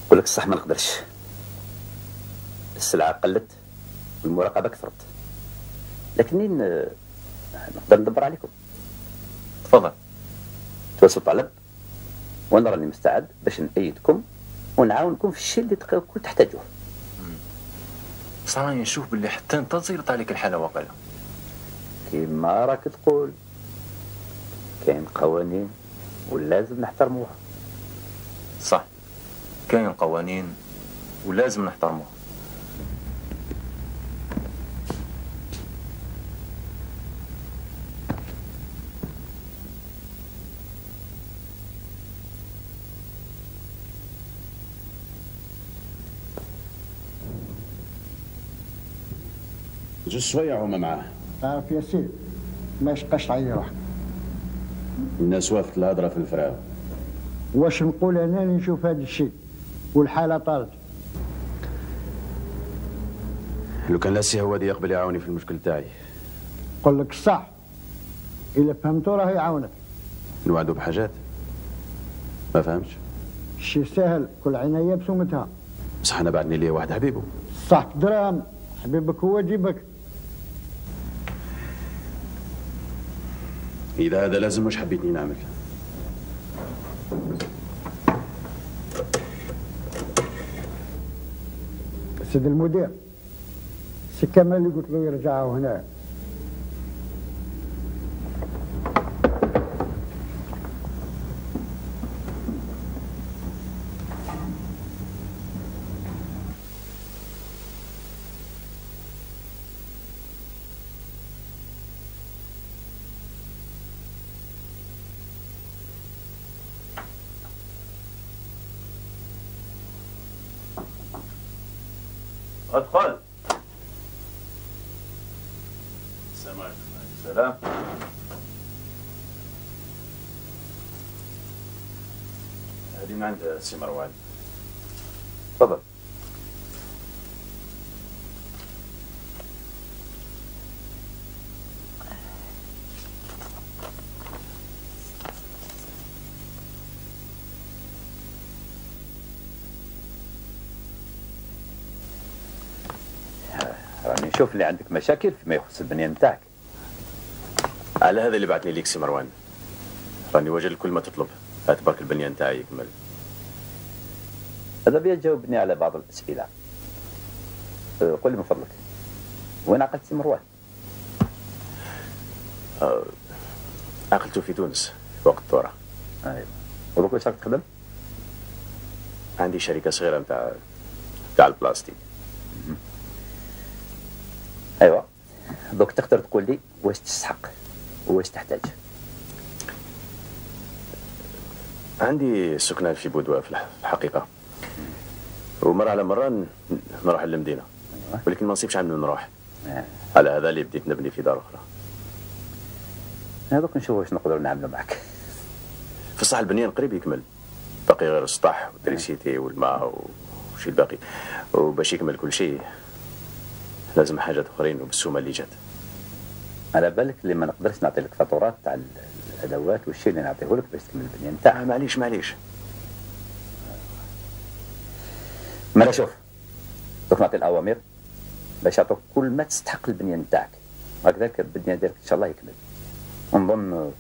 نقول لك الصح ما نقدرش، السلعه قلت والمراقبه كثرت، لكن نقدر ندبر عليكم. تفضل. توصل طلب وانا راني مستعد باش نأيدكم ونعاونكم في الشيء اللي كنت تحتاجوه. بصح راني نشوف باللي حتى انت تزيرط عليك الحاله واقيلا. كيما راك تقول كاين قوانين ولازم نحترموها. صح، كاين قوانين ولازم نحترموه. جوج شوية هما معاه. تعرف يا سيدي ما يشقاش تعيي روحك. الناس وافت الهضرة في الفراو. واش نقول انا اللي نشوف هذا الشيء والحالة طارت. لو كان لاسي هو دي يقبل يعاوني في المشكل تاعي. نقول لك الصح إلا فهمتو راه يعاونك. نوعدو بحاجات ما فهمتش. الشيء سهل كل عناية بسومتها. بصح أنا بعدني ليا واحد حبيبه. صح دراهم حبيبك هو جيبك. إذا هذا لازم مش حبيتني نعمل. سيد المدير سي كمال اللي قلت له يرجعوا هنا. ادخل. السلام عليكم. السلام. هذه من عند السي مروان. تفضل. راني نشوف اللي عندك مشاكل فيما يخص البنيان نتاعك. على هذا اللي بعثني ليك سي مروان. راني وجه لكل ما تطلب. هات برك البنيان نتاعي يكمل. هذا بيا تجاوبني على بعض الأسئلة. قل لي من فضلك وين عقلت سي مروان؟ عقلته في تونس وقت الثورة. ايوه. ودوك واش راك تخدم؟ عندي شركة صغيرة نتاع البلاستيك. ايوه. دوك تقدر تقول لي واش تستحق وواش تحتاج؟ عندي سكنة في بودوة في الحقيقة، ومرة على مرة نروح للمدينة، ولكن ما نصيبش عندنا نروح. على هذا اللي بديت نبني في دار أخرى. هذوك نشوف واش نقدروا نعملوا معك. في الصح البنيان قريب يكمل، باقي غير السطح والتريسيتي والماء وشي الباقي، وباش يكمل كل شيء لازم حاجات أخرين وبالسومة اللي جات. على بالك اللي ما نقدرش نعطي لك فاتورات تاع الادوات والشيء اللي نعطيه لك باش تكمل البنيان تاعك. معليش مالا شوف دوك نعطي الاوامر باش يعطوك كل ما تستحق البنيان تاعك، هكذاك البنيان ديالك ان شاء الله يكمل. ونظن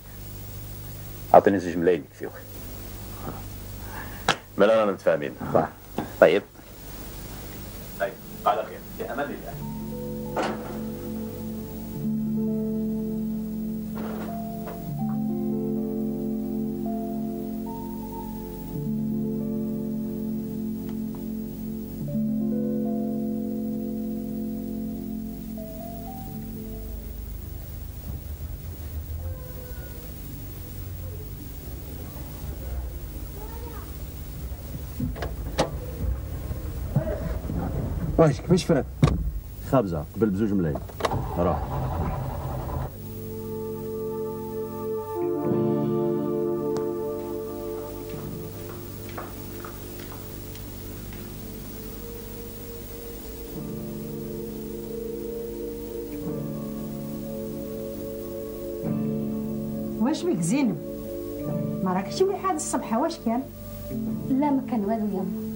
اعطيني زوج ملايين يكفيوك. مالا رانا متفاهمين. طيب على خير في امان الله. واش كيفاش فرات؟ خابزة قبل بزوج ملايين. روح. واش بك زينب؟ ما راكش واحد الصبحة واش كان؟ لا ما كان والو يما.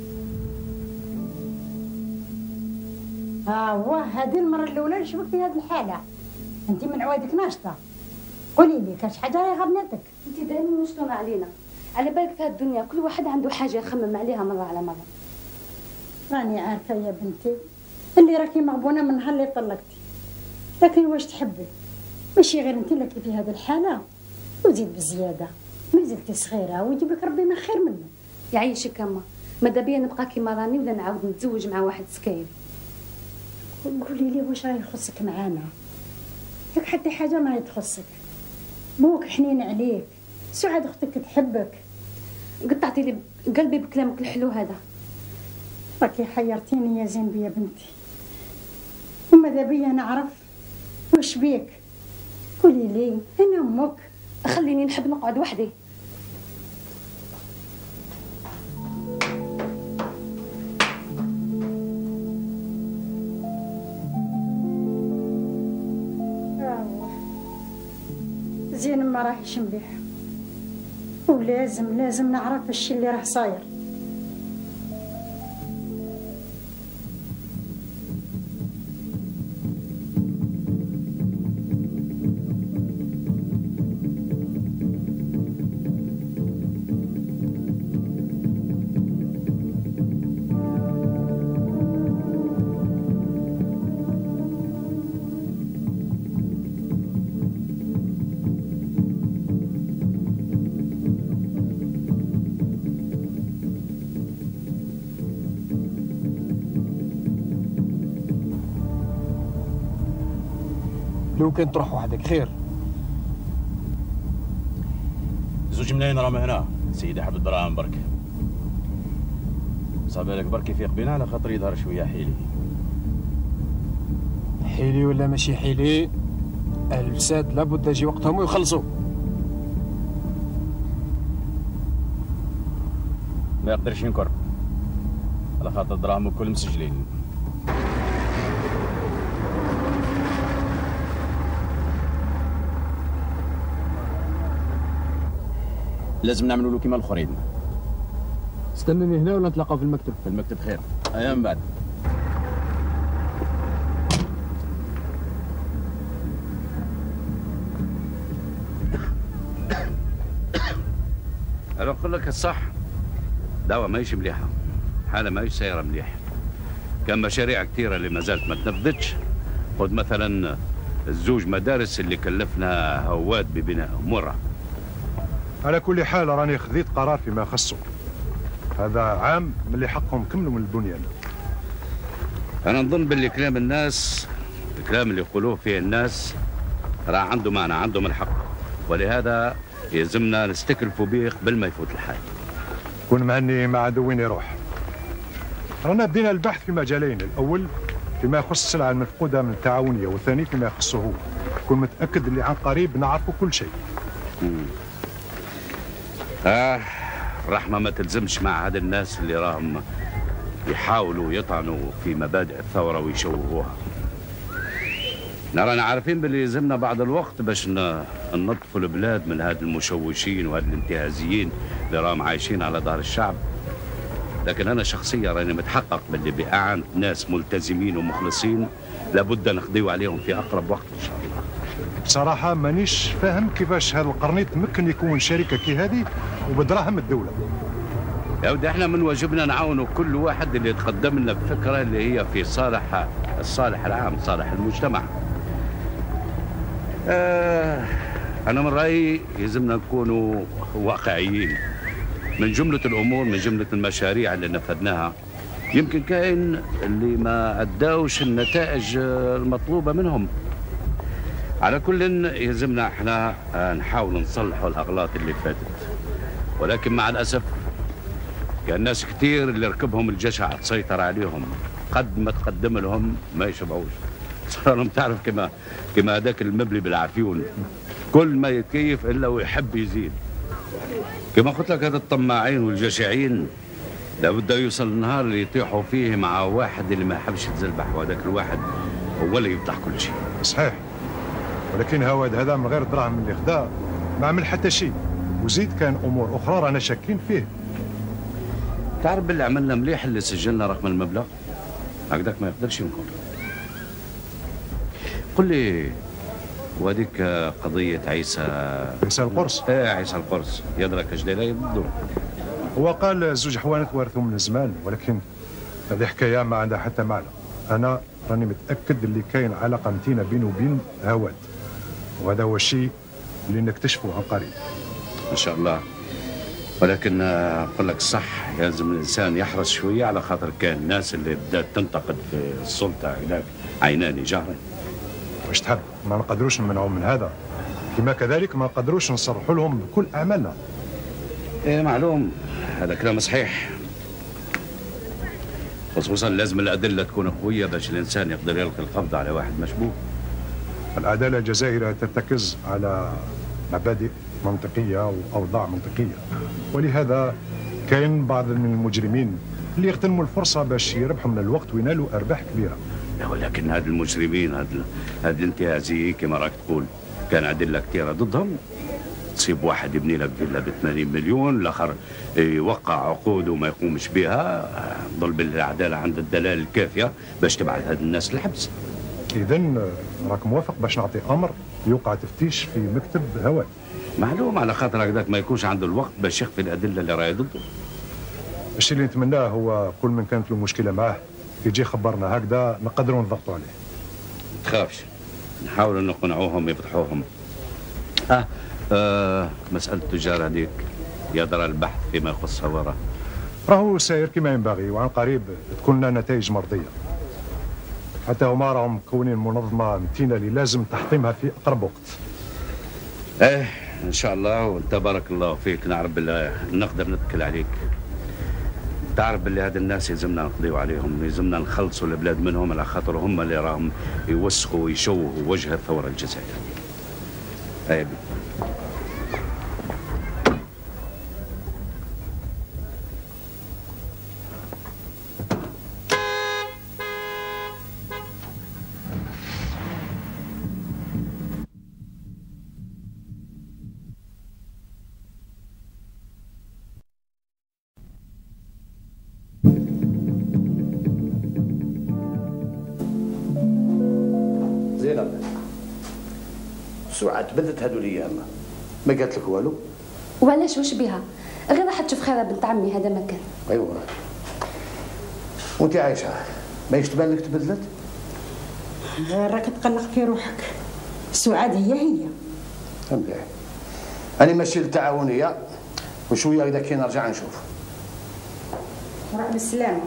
واه هذه المرة الأولى نشوفك في هذه الحالة. أنت من عوادك ناشطة. قولي لي كاش حاجة راهي غبنتك؟ أنت دائما مشطونة علينا. على بالك في هذه الدنيا كل واحد عنده حاجة يخمم عليها مرة على مرة. راني عارفة يا بنتي اللي راكي مغبونة من نهار اللي طلقتي. لكن واش تحبي؟ ماشي غير أنت اللي في هذه الحالة وزيد بزيادة. ما زلتي صغيرة ويجيب لك ربي ما خير منه. يعيشك أما. ماذا بيا نبقى كيما راني ولا نعاود نتزوج مع واحد سكاير؟ قولي لي واش راهي يخصك معانا؟ ياك حتى حاجه ما تخصك، بوك حنين عليك، سعاد اختك تحبك. قطعتي لي قلبي بكلامك الحلو هذا. راكي حيرتيني يا زينب يا بنتي، وماذا بيا نعرف واش بيك؟ قولي لي انا امك. خليني نحب نقعد وحدي. زين ما راهيش مليح، ولازم نعرف الشيء اللي راه صاير. لو كان تروح وحدك خير. زوج ملايين راهم هنا سيدي، حب الدراهم برك. صافي لك برك يفيق بينا على خاطر يظهر شويه حيلي. حيلي ولا ماشي حيلي، اهل الفساد لابد يجي وقتهم ويخلصوا. ما يقدرش ينكر على خاطر الدراهم الكل مسجلين. لازم نعملوا له كيما الاخرين. استناني هنا ولا نتلاقاو في المكتب؟ في المكتب خير، ايام بعد. انا نقول لك الصح، دعوة ماهيش مليحة، حالة ماهيش سايرة مليح. كان مشاريع كثيرة اللي ما زالت ما تنفذتش. خذ مثلا الزوج مدارس اللي كلفنا هواد ببنائهم مرة. على كل حال راني خذيت قرار فيما يخصه، هذا عام من اللي حقهم كملوا من البنيان. أنا نظن باللي كلام الناس، الكلام اللي يقولوه فيه الناس راه عنده معنى، عندهم الحق، ولهذا يلزمنا نستكلفوا به قبل ما يفوت الحال. كون معني مع عدو وين يروح. رانا بدينا البحث في مجالين، الأول فيما يخص السلعة المفقودة من التعاونية، والثاني فيما يخصه هو. كون متأكد اللي عن قريب نعرفوا كل شيء. الرحمة ما تلزمش مع هاد الناس اللي راهم يحاولوا يطعنوا في مبادئ الثورة ويشوهوها. رانا عارفين باللي يلزمنا بعض الوقت باش ننظفوا البلاد من هاد المشوشين وهاد الانتهازيين اللي راهم عايشين على ظهر الشعب. لكن أنا شخصيا راني متحقق باللي بإعانة ناس ملتزمين ومخلصين لابد نقضيو عليهم في أقرب وقت إن شاء الله. بصراحة مانيش فاهم كيفاش هذا القرنيط ممكن يكون شركة كي هذه وبدراهم الدولة. يا ودي احنا من واجبنا نعاونوا كل واحد اللي يتقدم لنا بفكرة اللي هي في الصالح العام، صالح المجتمع. أنا من رأيي يلزمنا نكونوا واقعيين. من جملة الأمور، من جملة المشاريع اللي نفذناها، يمكن كاين اللي ما أداوش النتائج المطلوبة منهم. على كل يلزمنا احنا نحاول نصلحوا الأغلاط اللي فاتت، ولكن مع الأسف كان ناس كتير اللي ركبهم الجشع تسيطر عليهم، قد ما تقدم لهم ما يشبعوش. صار لهم تعرف كما هذاك المبلي بالعفيون، كل ما يتكيف الا ويحب يزيد. كما قلت لك هذا الطماعين والجشعين لابد يوصل النهار اللي يطيحوا فيه مع واحد اللي ما يحبش يتزلبح، وهذاك الواحد هو اللي يفتح كل شيء. صحيح، ولكن هواد هذا من غير الدراهم اللي خدا ما عمل حتى شيء، وزيد كان امور اخرى رانا شاكين فيه. تعرف باللي عملنا مليح اللي سجلنا رقم المبلغ، هكذاك ما يقدرش ينكر. قل لي، وهذيك قضية عيسى القرص؟ ايه عيسى القرص، يدرك اش داير بالضبط؟ هو قال زوج حوانت ورثوا من زمان، ولكن هذه حكاية ما عندها حتى معنى. أنا راني متأكد اللي كاين علاقة متينة بينه وبين هواد، وهذا هو الشيء اللي نكتشفه عن قريب. إن شاء الله. ولكن نقول لك الصح، لازم الانسان يحرص شويه، على خاطر كان الناس اللي بدات تنتقد في السلطه هناك عينان جهرا. واش تحب؟ ما نقدروش نمنعهم من هذا، كما كذلك ما نقدروش نصرحوا لهم بكل اعمالنا. ايه معلوم، هذا كلام صحيح، خصوصا لازم الادله تكون قويه باش الانسان يقدر يلقي القبض على واحد مشبوه. العداله الجزائريه ترتكز على مبادئ منطقيه واوضاع منطقيه، ولهذا كاين بعض من المجرمين اللي يغتنموا الفرصه باش يربحوا من الوقت وينالوا ارباح كبيره. ولكن هاد المجرمين، هاد الانتهازيين كما راك تقول، كان ادله كثيره ضدهم. تصيب واحد يبني لك فيلا ب 80 مليون، الاخر يوقع عقود وما يقومش بها، ظل بالعداله عند الدلائل الكافيه باش تبعث هاد الناس للحبس. اذا راك موافق باش نعطي امر يوقع تفتيش في مكتب هوائي؟ معلوم، على خاطر هكذاك ما يكونش عنده الوقت باش يخفي الادله اللي راهي ضده. الشيء اللي نتمناه هو كل من كانت له مشكله معاه يجي خبرنا، هكذا نقدروا نضغطوا عليه. ما تخافش، نحاولوا نقنعوهم يفتحوهم. مسألة التجار هذيك يا درى البحث فيما يخص هوارة راهو ساير كما ينبغي، وعن قريب تكون لنا نتائج مرضية. حتى هما راهم مكونين منظمة متينة اللي لازم تحطيمها في أقرب وقت. ايه ان شاء الله، وانت بارك الله فيك، نعرف بالله نقدر نتكل عليك. تعرف باللي هاد الناس يلزمنا نقضيو عليهم، يلزمنا نخلصوا البلاد منهم، على خاطر هم اللي راهم يوسخوا ويشوهوا وجه الثورة الجزائرية. ايه سعاد بدت هذو الايام ما قالت لك والو؟ وعلاش واش بها؟ غير راح تشوف خيرها بنت عمي، هذا ما كان. ايوا وانت عايشه ما يشتبان لك تبدلت؟ راك تقلق في روحك، سعاد هي مليح. انا ماشي للتعاونيه، وشويه اذا كي نرجع نشوف. روح بالسلامه.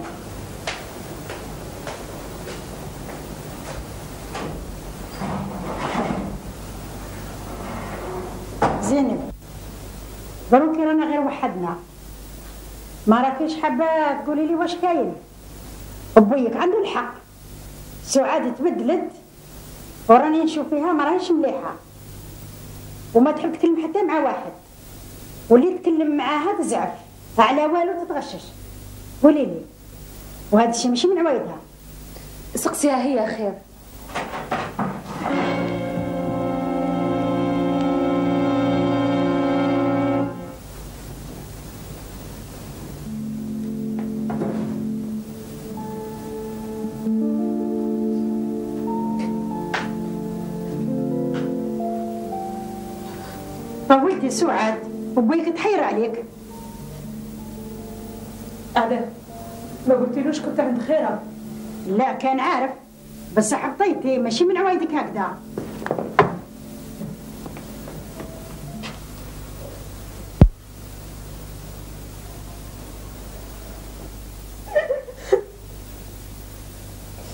زينب، دروك رانا غير وحدنا، ما راكيش حابه تقولي لي واش كاين؟ ابويك عنده الحق، سعاد تبدلت وراني نشوف فيها ما راهيش مليحه، وما تحب تكلم حتى مع واحد، واللي تكلم معاها تزعف، على والو تتغشش. قولي لي، وهذا الشيء ماشي من عوايدها. سقسيها هي خير. طولتي سعاد، وبويك تحير عليك. علاه؟ ما قلتيلوش كنت عند خيرها؟ لا كان عارف، بس حطيتي ماشي من عوايدك هكذا.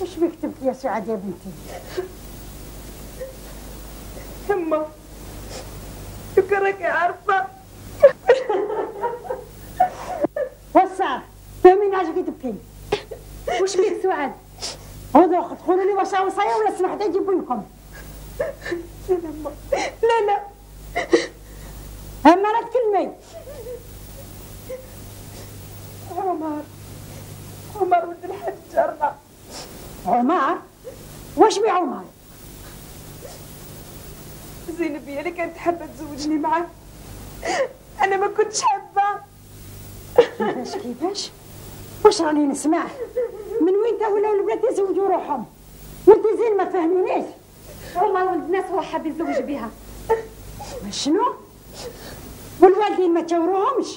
وش بك تبكي يا سعاد يا بنتي؟ يما راكي عارفه. وصار فهميني عاجبك تبكي. وش بيك سعاد؟ هذوك تقولوا لي واش وصايا ولا سمح حتى يجيبوا لكم. لا اما راك تكلمي. عمر ولد الحاج جارنا. عمر؟ واش بي عمر؟ زينب هي اللي كانت حابه تزوجني معاه، انا ما كنتش حابه. كيفاش؟ واش راني نسمع؟ من وين تا ولاو البنات يزوجوا روحهم؟ وانت زين ما فهمينيش. عمر ولد الناس هو حاب يتزوج بها. شنو؟ والوالدين ما تشاوروهمش؟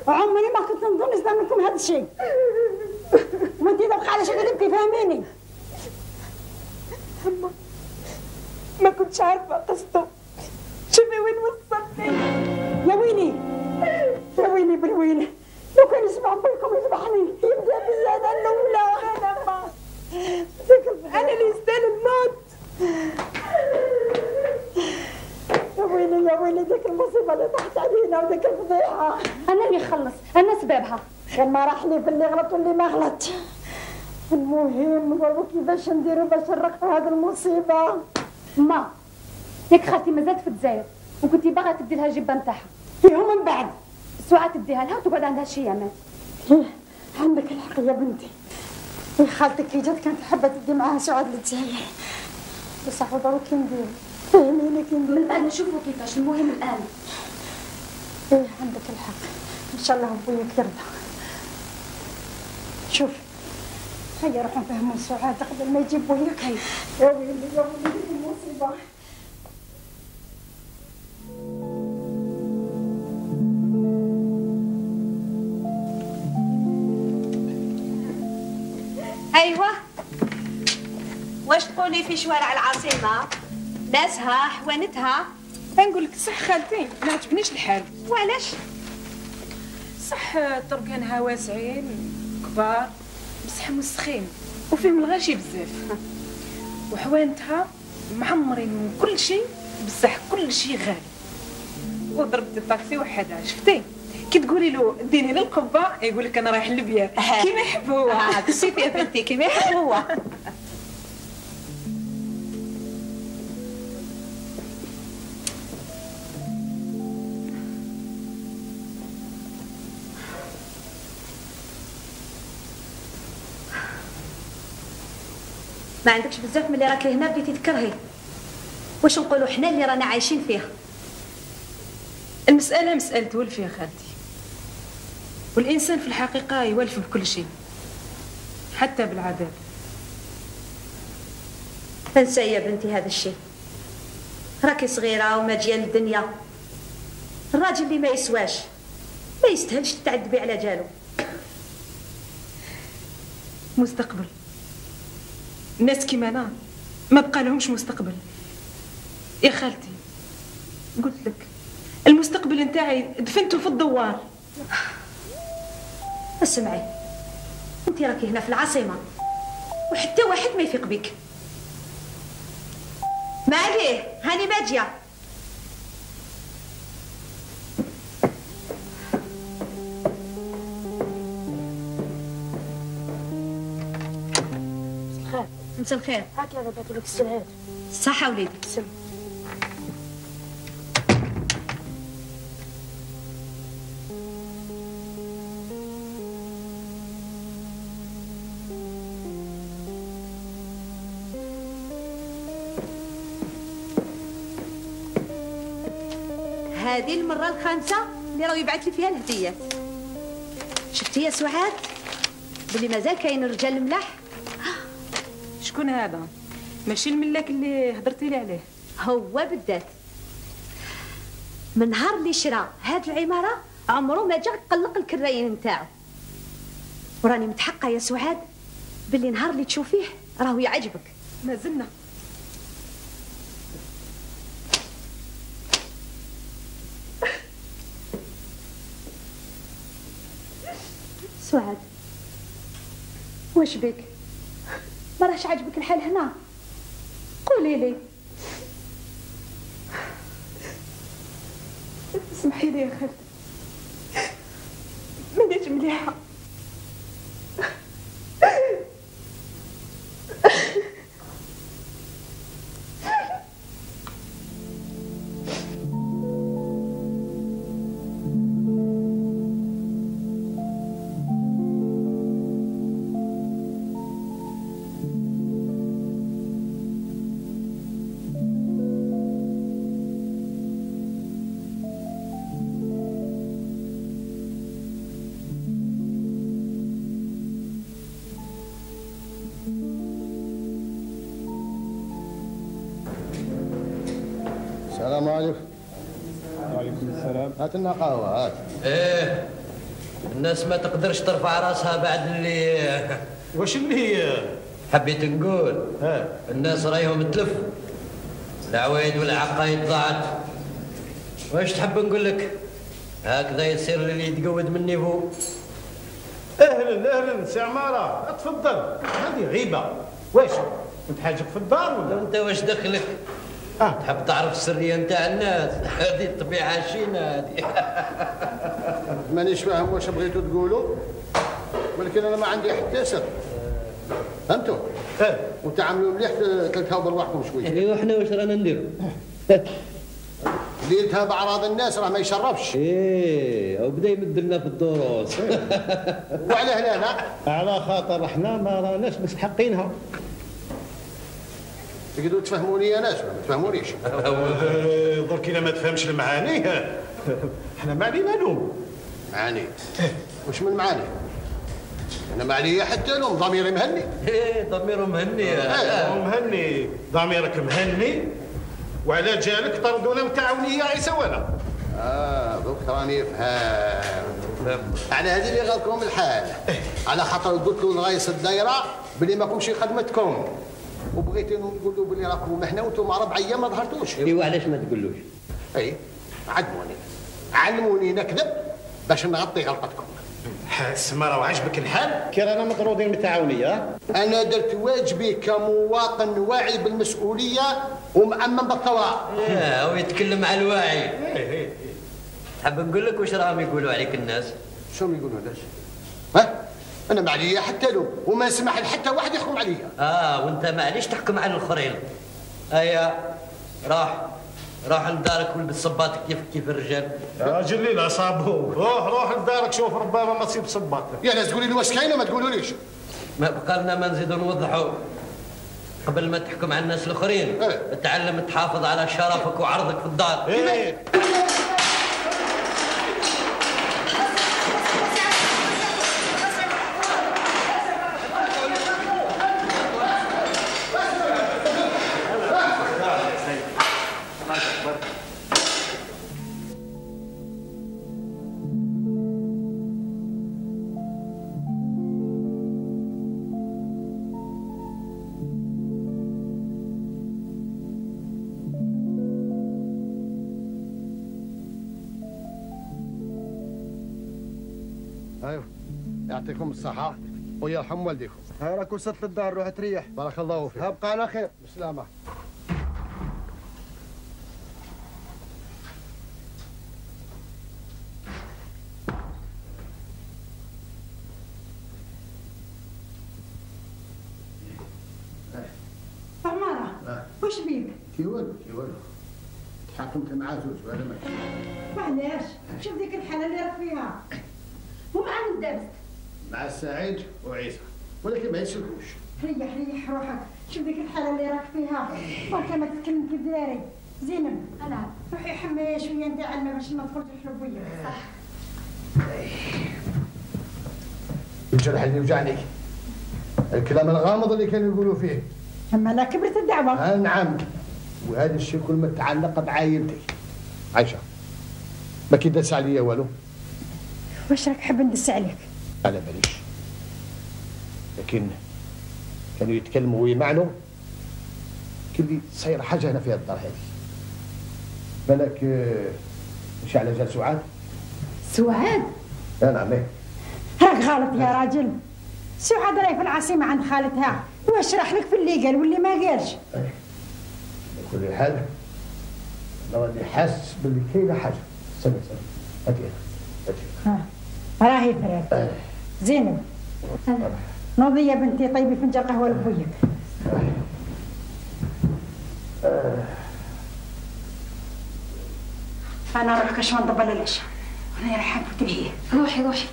عمري ما كنت نظن نصدر منكم هذا الشيء. وانت تبقى على شكل تبكي فهميني. ما كنتش عارفه قصته. شوفي وين وصلني. يا ويلي، ويلي بالويل، لو كان يسمع بويكم يذبحني يبدا بي انا الاولى. انا اللي يستاهل الموت. يا ويلي ديك المصيبه اللي طاحت علينا وديك الفضيحه. انا اللي خلص، انا سببها. خير ما راح لي في اللي غلط واللي ما غلط. المهم نقولوا كيفاش نديروا باش نرقوا هذه المصيبه. ما ياك خالتي مازالت في الجزائر وكنتي باغا تدي لها الجبه نتاعها. ايوا من بعد ساعات تديها لها وتقعد عندها شي ايامات. عندك الحق يا بنتي. يا خالتك كي جات كانت حابه تدي معاها سعاد للجزائر، بصح ضروري كي ندير فهميني كي ندير. من الان نشوفوا كيفاش، المهم الان. ايه عندك الحق، ان شاء الله بوياك يرضى. شوف هيا روحوا نفهموا سعاد قبل ما يجيب بوياك. هيا يا ويلي يا ويلي المصيبه. ايوه، واش تقولي في شوارع العاصمه؟ ناسها حوانتها. نقول لك صح خالتي، ما عجبنيش الحال. وعلاش؟ صح طرقانها واسعين كبار بصح مسخين وفيهم الغاشي بزاف، وحوانتها معمرين كل شيء بصح كل شيء غالي. وضربت الطاكسي وحدها، شفتي كي تقولي له ديني للقبه يقول لك انا رايح للبيات كيما يحب هو. شوفي يا بنتي كيما يحب هو. ما عندكش بزاف من اللي راكي هنا بديتي تكرهي. واش نقولوا حنا اللي رانا عايشين فيها؟ المسألة مسألة ولف يا خالتي، والإنسان في الحقيقة يولف بكل شيء حتى بالعذاب. انسى يا بنتي هذا الشيء، راكي صغيرة وما جايه للدنيا. الراجل اللي ما يسواش ما يستاهلش تتعذبي على جالو. مستقبل الناس كيما انا ما بقى لهمش مستقبل يا خالتي. قلت لك المستقبل نتاعي دفنته في الدوار. اسمعي، انت راكي هنا في العاصمه وحتى واحد ما يفيق بك. ما عليه، هاني ماجيه. مساء الخير. هاكي هذا بعثوا لك السلعات. صحة وليدي. سلم. هذه المرة الخامسة اللي راهو يبعث لي فيها الهديات. شفتي يا سعاد بلي مازال كاين رجال ملاح. شكون هذا؟ ماشي الملاك اللي هضرتي لي عليه؟ هو بالذات. من نهار اللي شرا هاد العمارة عمره ما جا قلق الكراين نتاعو. وراني متحقة يا سعاد باللي نهار اللي تشوفيه راهو يعجبك. ما زلنا. سعاد واش بك؟ ما راهش عاجبك الحال هنا؟ قولي لي. اسمحي لي يا خالتي، مانيش مليحة. السلام عليكم. وعليكم السلام. هات لنا قهوة هات. ايه الناس ما تقدرش ترفع راسها بعد اللي واش اللي حبيت نقول الناس رايهم تلف العوايد والعقايد ضاعت. واش تحب نقول لك؟ هكذا يصير اللي يتقود مني فوق. اهلا سي عماره، تفضل. هذه غيبه. واش كنت حاجك في الدار ولا؟ انت واش دخلك؟ تحب تعرف السريه نتاع الناس؟ هذه الطبيعه شينا هذه. مانيش فاهم واش بغيتوا تقولوا، ولكن انا ما عندي حتى سر. فهمتوا؟ وتعاملوا مليح تلتهاو برواحكم شويه. ايوا حنا واش رانا نديروا؟ اللي يلتهى باعراض الناس راه ما يشرفش. وبدا يمد لنا في الدروس. وعلاه لا لا؟ على خاطر احنا ما راناش مستحقينها. تقدروا تفهموني انا ولا ما تفهمونيش؟ درك الا ما تفهمش المعاني احنا ما علينا لوم. معاني؟ واش من معاني؟ انا ما عليا حتى لوم، ضميري مهني. ضميره مهني. مهني، ضميرك مهني. وعلى جالك طردونا متعاونيه عيسى ولا؟ دوك راني فهمت. على هذه اللي غلطكم الحال، على خاطر قلت له لغايس الدايره بلي ماكمش خدمتكم، وبغيت نقول له بلي راكم هنا وانتم 4 ايام ما ظهرتوش. ايوا علاش ما تقولوش؟ علموني نكذب باش نغطي غلطتكم. سماره وعجبك الحال؟ كي رانا مطرودين من التعاونيه. انا درت واجبي كمواطن واعي بالمسؤوليه ومأمن بالثوره. ويتكلم على الواعي. حاب نقول لك واش راهم يقولوا عليك الناس؟ شنو يقولوا الناس؟ انا ما عليا حتى لوم وما نسمح لحتى واحد يحكم عليا. وانت معليش تحكم على الاخرين. روح لدارك والبس صباطك كيف الرجال. يا راجل لي لا صابو، روح لدارك شوف ربما ما تصيب صباطك. يا ناس تقولي لي واش كاينه ما تقولوليش. ما بقى لنا ما نزيدوا نوضحوا. قبل ما تحكم على الناس الاخرين تعلم تحافظ على شرفك وعرضك في الدار. ايوه يعطيكم الصحة ويرحم والديكم. راك وصلت للدار، روح تريح. بارك الله فيك. ابقى على خير. بالسلامة. عمارة واش بيك؟ كي والو تحاكمت مع زوج ولا ما؟ معليش شوف ديك الحالة اللي راك فيها. ومع من دابست؟ مع سعيد وعيسى، ولكن ما يسلكوش. ريح روحك، شوف ديك الحالة اللي راك فيها، وانت ما تتكلم كيف داري. زينب انا روحي حمي شوية ندير علمة باش ما تخرج الحلوية. صح. الجرح اللي وجعني، الكلام الغامض اللي كانوا يقولوا فيه. اما لا كبرت الدعوة. نعم، وهذا الشيء كل ما تعلق بعايلتي. عايشة ما كي داس عليا والو. واش راك حاب ندس عليك؟ على باليش، لكن كانوا يتكلموا ويمعنوا كلي صاير حاجه هنا في الدار هذه. بالك مش على جال سعاد؟ سعاد؟ نعم. راك غلط يا راجل. سعاد راهي في العاصمه عند خالتها، واش راح لك في اللي قال واللي ما قالش. على كل حال انا راني حاسس باللي كاينه حاجه. سمع هاتي راهي فريد. زينب نوضي يا بنتي طيبي فنجان قهوه لبويك. انا نروح كاش نضبل العشاء. انا رايحه نفوت لهيه. روحي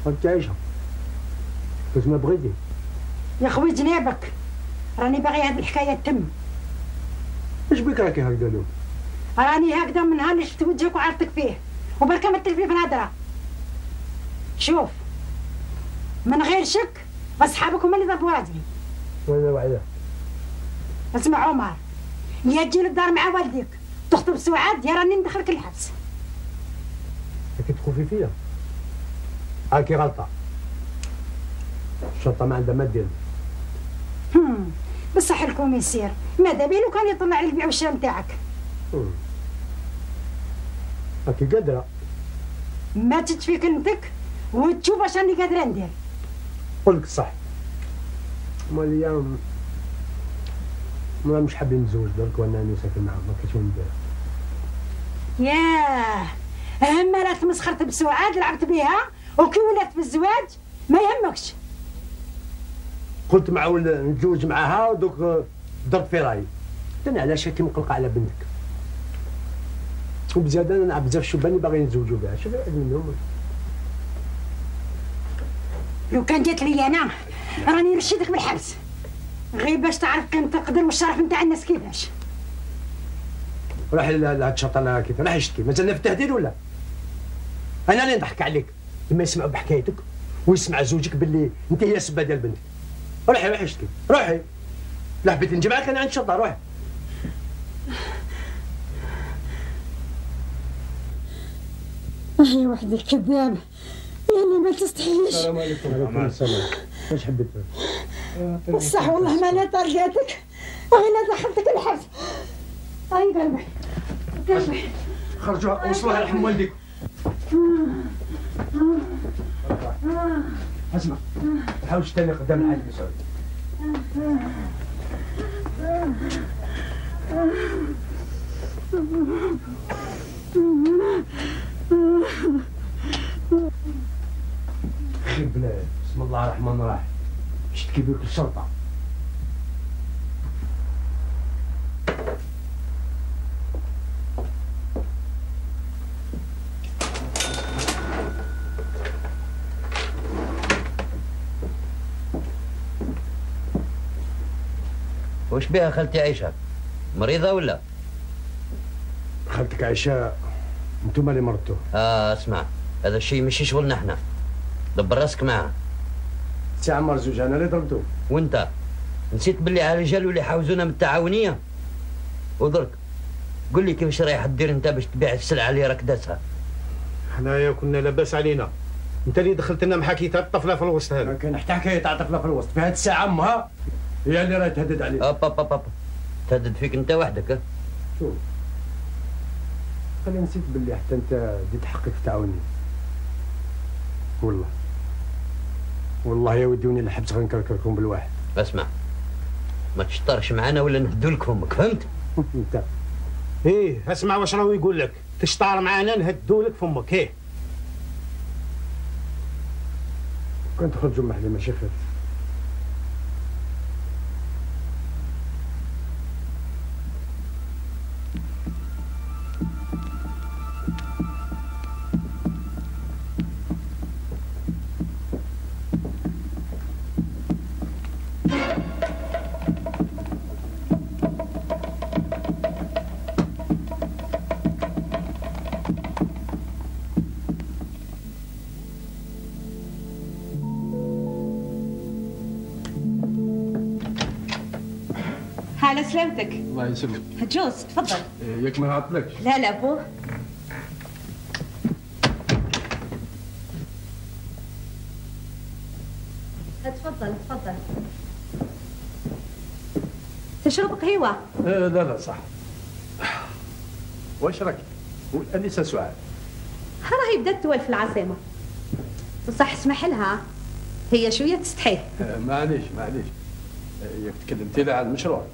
انت عايشه كيف ما بغيتي. يا خوي جنابك، راني باغي هاد الحكايه تتم. اش بك راكي هكذا اليوم؟ راني هكذا من نهار اللي شفت وجهك وعرفتك فيه، وبركه ما تلفي في الهضره. شوف من غير شك اصحابك هما اللي ضربوا راجلي. وانا وعده. اسمع عمر، يا تجي للدار مع والديك تخطب سعاد يا راني ندخلك الحبس. كي تخوفي فيا هاكي غلطه، الشرطه ما عندها ما دير. بصح الكوميسير ماذا بالو كان يطلع لي البيع والشراء نتاعك. هاكي قادره ما تتفي كلمتك وتشوف اش راني قادره ندير. قول لك الصح، اليوم ما مش حابين نتزوج درك وانا ساكن معاهم، ما كاينش وين ندير. ياه اما لا تمسخرت بسعاد لعبت بها وكي ولات بالزواج ما يهمكش. قلت معول نتزوج معاها ودوك درت في رايي. انا علاش كي مقلقه على بنتك وبزياده انا نعرف بزاف شبان باغيين يتزوجوا بها، شوف واحد منهم. لو كان جات لي انا راني نرشدك بالحبس غير باش تعرف قيمة القدر والشرف نتاع الناس كيفاش. راح لهاد الشرطه كيف راح يشتكي؟ مازالنا في التهديد ولا؟ انا اللي نضحك عليك لما يسمعوا بحكايتك ويسمع زوجك باللي انت هي السبه ديال بنتك. روحي اشتكي، روحي. لا حبيت نجمعك انا عند الشرطه، روحي. يا وحدي الكذاب يعني ما تستحيش. السلام عليكم. وعليكم السلام. واش حبيت؟ بصح والله ما لا طرقاتك غير دخلتك الحبس. اي قلبي خرجوا وصلوها لحم والديك. اسمع ما تحاولش تاني قدام الحاج مسعود. خير بلاد، بسم الله الرحمن الرحيم. اشتكي بك الشرطه. وش بها خالتي عيشة؟ مريضة ولا؟ خالتك عيشة انتم اللي مرضتوه. اسمع، هذا الشيء ماشي شغلنا احنا. دبر راسك معاه. سي عمار زوج انا اللي ضربتوه. وانت نسيت باللي على الرجال اللي يحاوزونا من التعاونية؟ ودرك قول لي كيفاش رايح دير انت باش تبيع السلعة اللي راك داسها؟ حنايا كنا لاباس علينا. انت اللي دخلت لنا محاكي تاع الطفله في الوسط هذا. كان حتى حكايه تاع الطفله في الوسط، في هذه الساعه امها هي اللي راهي تهدد عليك. اب تهدد فيك انت وحدك. شوف انا نسيت باللي حتى انت ديت حقك تعاوني. والله يا ودي وني الحبس غنكركركم بالواحد. اسمع ما تشطرش معانا ولا نهدو لك امك، فهمت؟ انت ايه اسمع واش راهو يقول لك، تشطار معانا نهدو لك فمك. ايه كنت تخرجوا محلي ماشي خير. على سلامتك. الله يسلمك. جوز تفضل. ياك ما عطلكش. لا بو. تفضل. تشرب قهوة؟ لا صح. واش راك؟ والأنسة سعاد راهي بدات تولف في العاصمة، بصح اسمح لها هي شوية تستحي. معليش ياك تكلمتي لها على المشروع.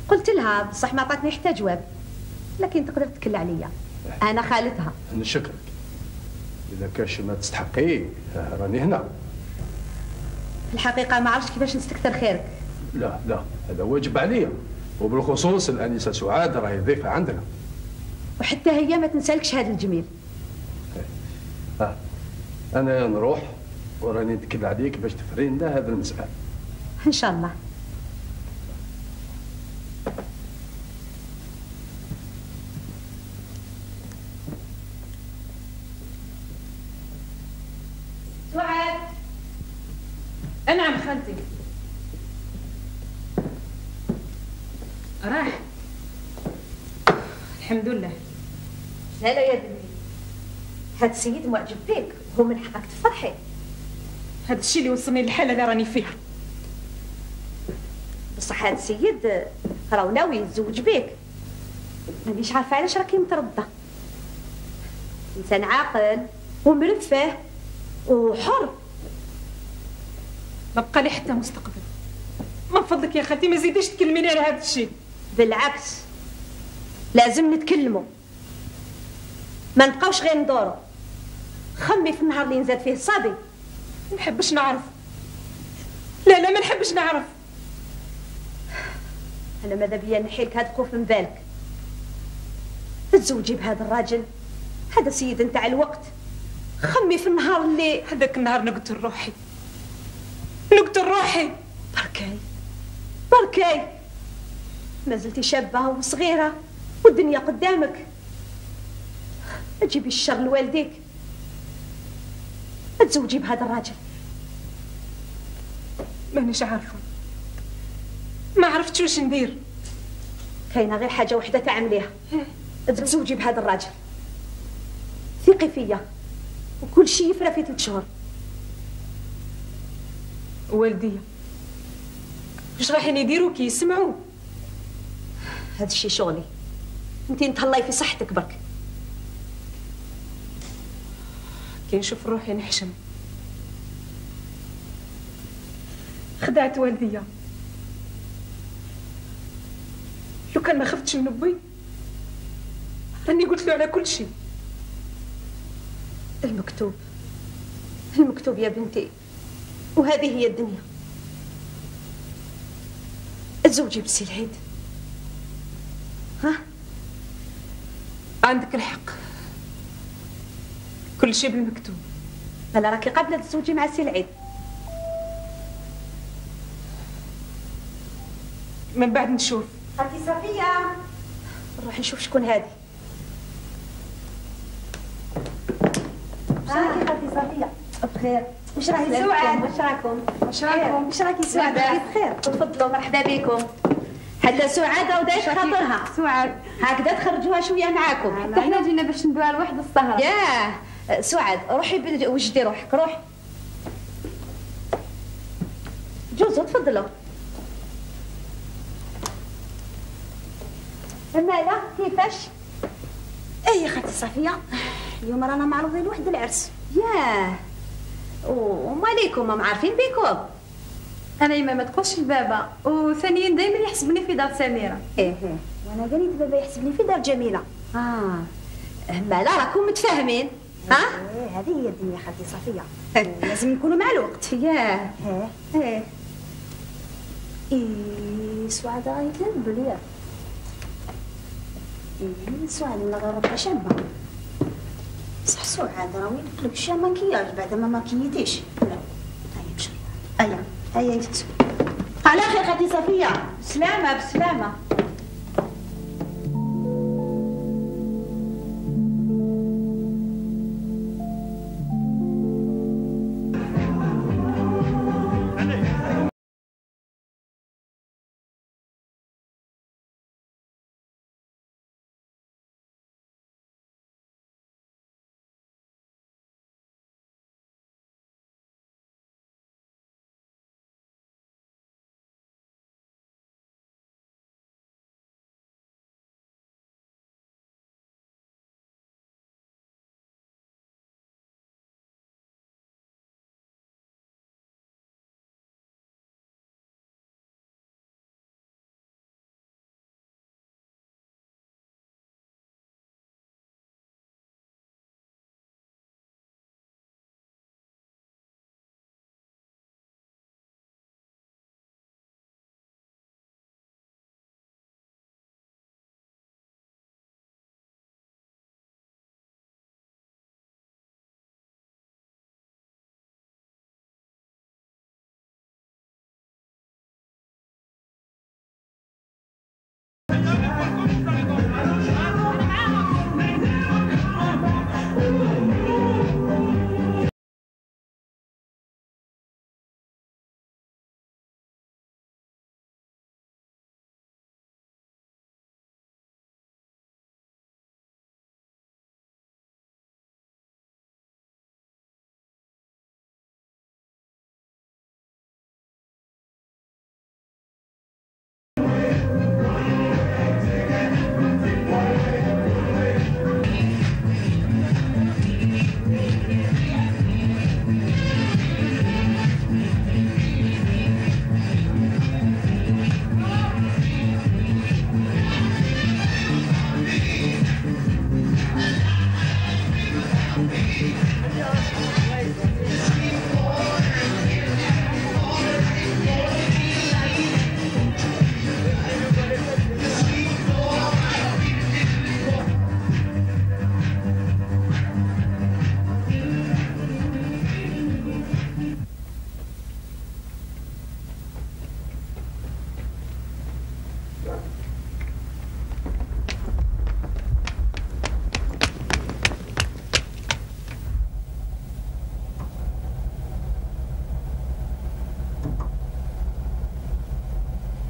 قلت لها بصح ما عطاتني حتى جواب، لكن تقدر تكل عليا، انا خالتها. نشكرك. اذا كاش ما تستحقيه راني هنا. في الحقيقه ما عرفتش كيفاش نستكثر خيرك. لا هذا واجب عليا، وبالخصوص الانسه سعاد راهي ضيفه عندنا، وحتى هي ما تنسالكش هذا الجميل. انا نروح وراني نتكل عليك باش تفري لنا هذا المسألة ان شاء الله. سعاد. نعم خالتي. الحمد لله. لا لا يا بنتي، هاد السيد معجب بيك، هو من حقك تفرحي. هذا الشيء اللي وصلني للحاله اللي راني فيها. بصح هاد السيد راهو ناوي يتزوج بيك، مانيش عارفه علاش راكي متردة. انسان عاقل ومرفه وحر، ما بقى لي حتى مستقبل. من فضلك يا خالتي ما زيديش تكلميني على هذا الشيء. بالعكس لازم نتكلموا، ما نبقاوش غير ندورو. خمي في النهار اللي نزاد فيه الصبي. ما نحبش نعرف. لا ما نحبش نعرف. انا ماذا بيا نحيلك هاد الخوف من بالك. تتزوجي بهذا الراجل، هذا سيد نتاع الوقت. خمي في النهار اللي هذاك النهار نقتل روحي. بركاي بركاي، ما زلتي شابه وصغيره والدنيا قدامك. ما تجيبيش الشر لوالديك، ما تزوجي بهذا الراجل. مانيش عارفه، ما عرفتش واش ندير. كاينه غير حاجه وحده تعمليها، تزوجي بهذا الراجل. ثقي فيا وكل شيء يفرى في 3 شهور. والديا واش رايحين يديروا كي يسمعوا؟ هذا الشيء شغلي، انتي نتهلاي في صحتك برك. كي نشوف روحي نحشم. خدعت والديا. لو كان ما خفتش من بي راني قلت له على كل شيء. المكتوب يا بنتي، وهذه هي الدنيا. تزوجي بسي العيد. ها؟ عندك الحق، كل شيء بالمكتوب. انا راكي قابله تزوجي مع سي العيد. من بعد نشوف. خالتي صفيه، نروح نشوف شكون هذه. راكي خالتي صفيه؟ بخير. واش راهي سعاد؟ واش راكم؟ واش راكي سعاد؟ بخير. تفضلوا، مرحبا بكم. حتى سعاد راه دايش خاطرها. سعاد هكذا تخرجوها شويه معاكم. حتى احنا جينا باش ندوها لوحد السهره. ياه سعاد، روحي وجدي روحك، روحي. جوزوا تفضلوا. مالا كيفاش؟ اي خالتي صفيه، اليوم رانا معروضين لواحد العرس. ياه، وماليكم ما معارفين بيكم؟ انا ما تقولش لبابا، وثانيا دائما يحسبني في دار سميره. ايه وانا قالت بابا يحسبني في دار جميله. مالا راكم متفاهمين؟ ها؟ هذه هي الدنيا خالتي صفيه، لازم نكونوا مع الوقت. ياه ايه سعاد راهي تنبل. ياه سعاد من غير ربها شابه. صح سعاد راهي يدخلك شي ماكياج بعد ما ماكيتيش. لا هيا مشي، هيا يفتو. على خير خالتي صفيه. بسلامه بسلامه.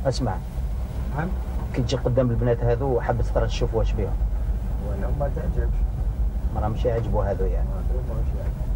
اسمع. نعم. كي تجي قدام البنات هذو حبت ترى تشوف واش بيهم. ولا ما تعجبش. ما راهمش يعجبوا هذو يعني. ما راهمش يعجبوا.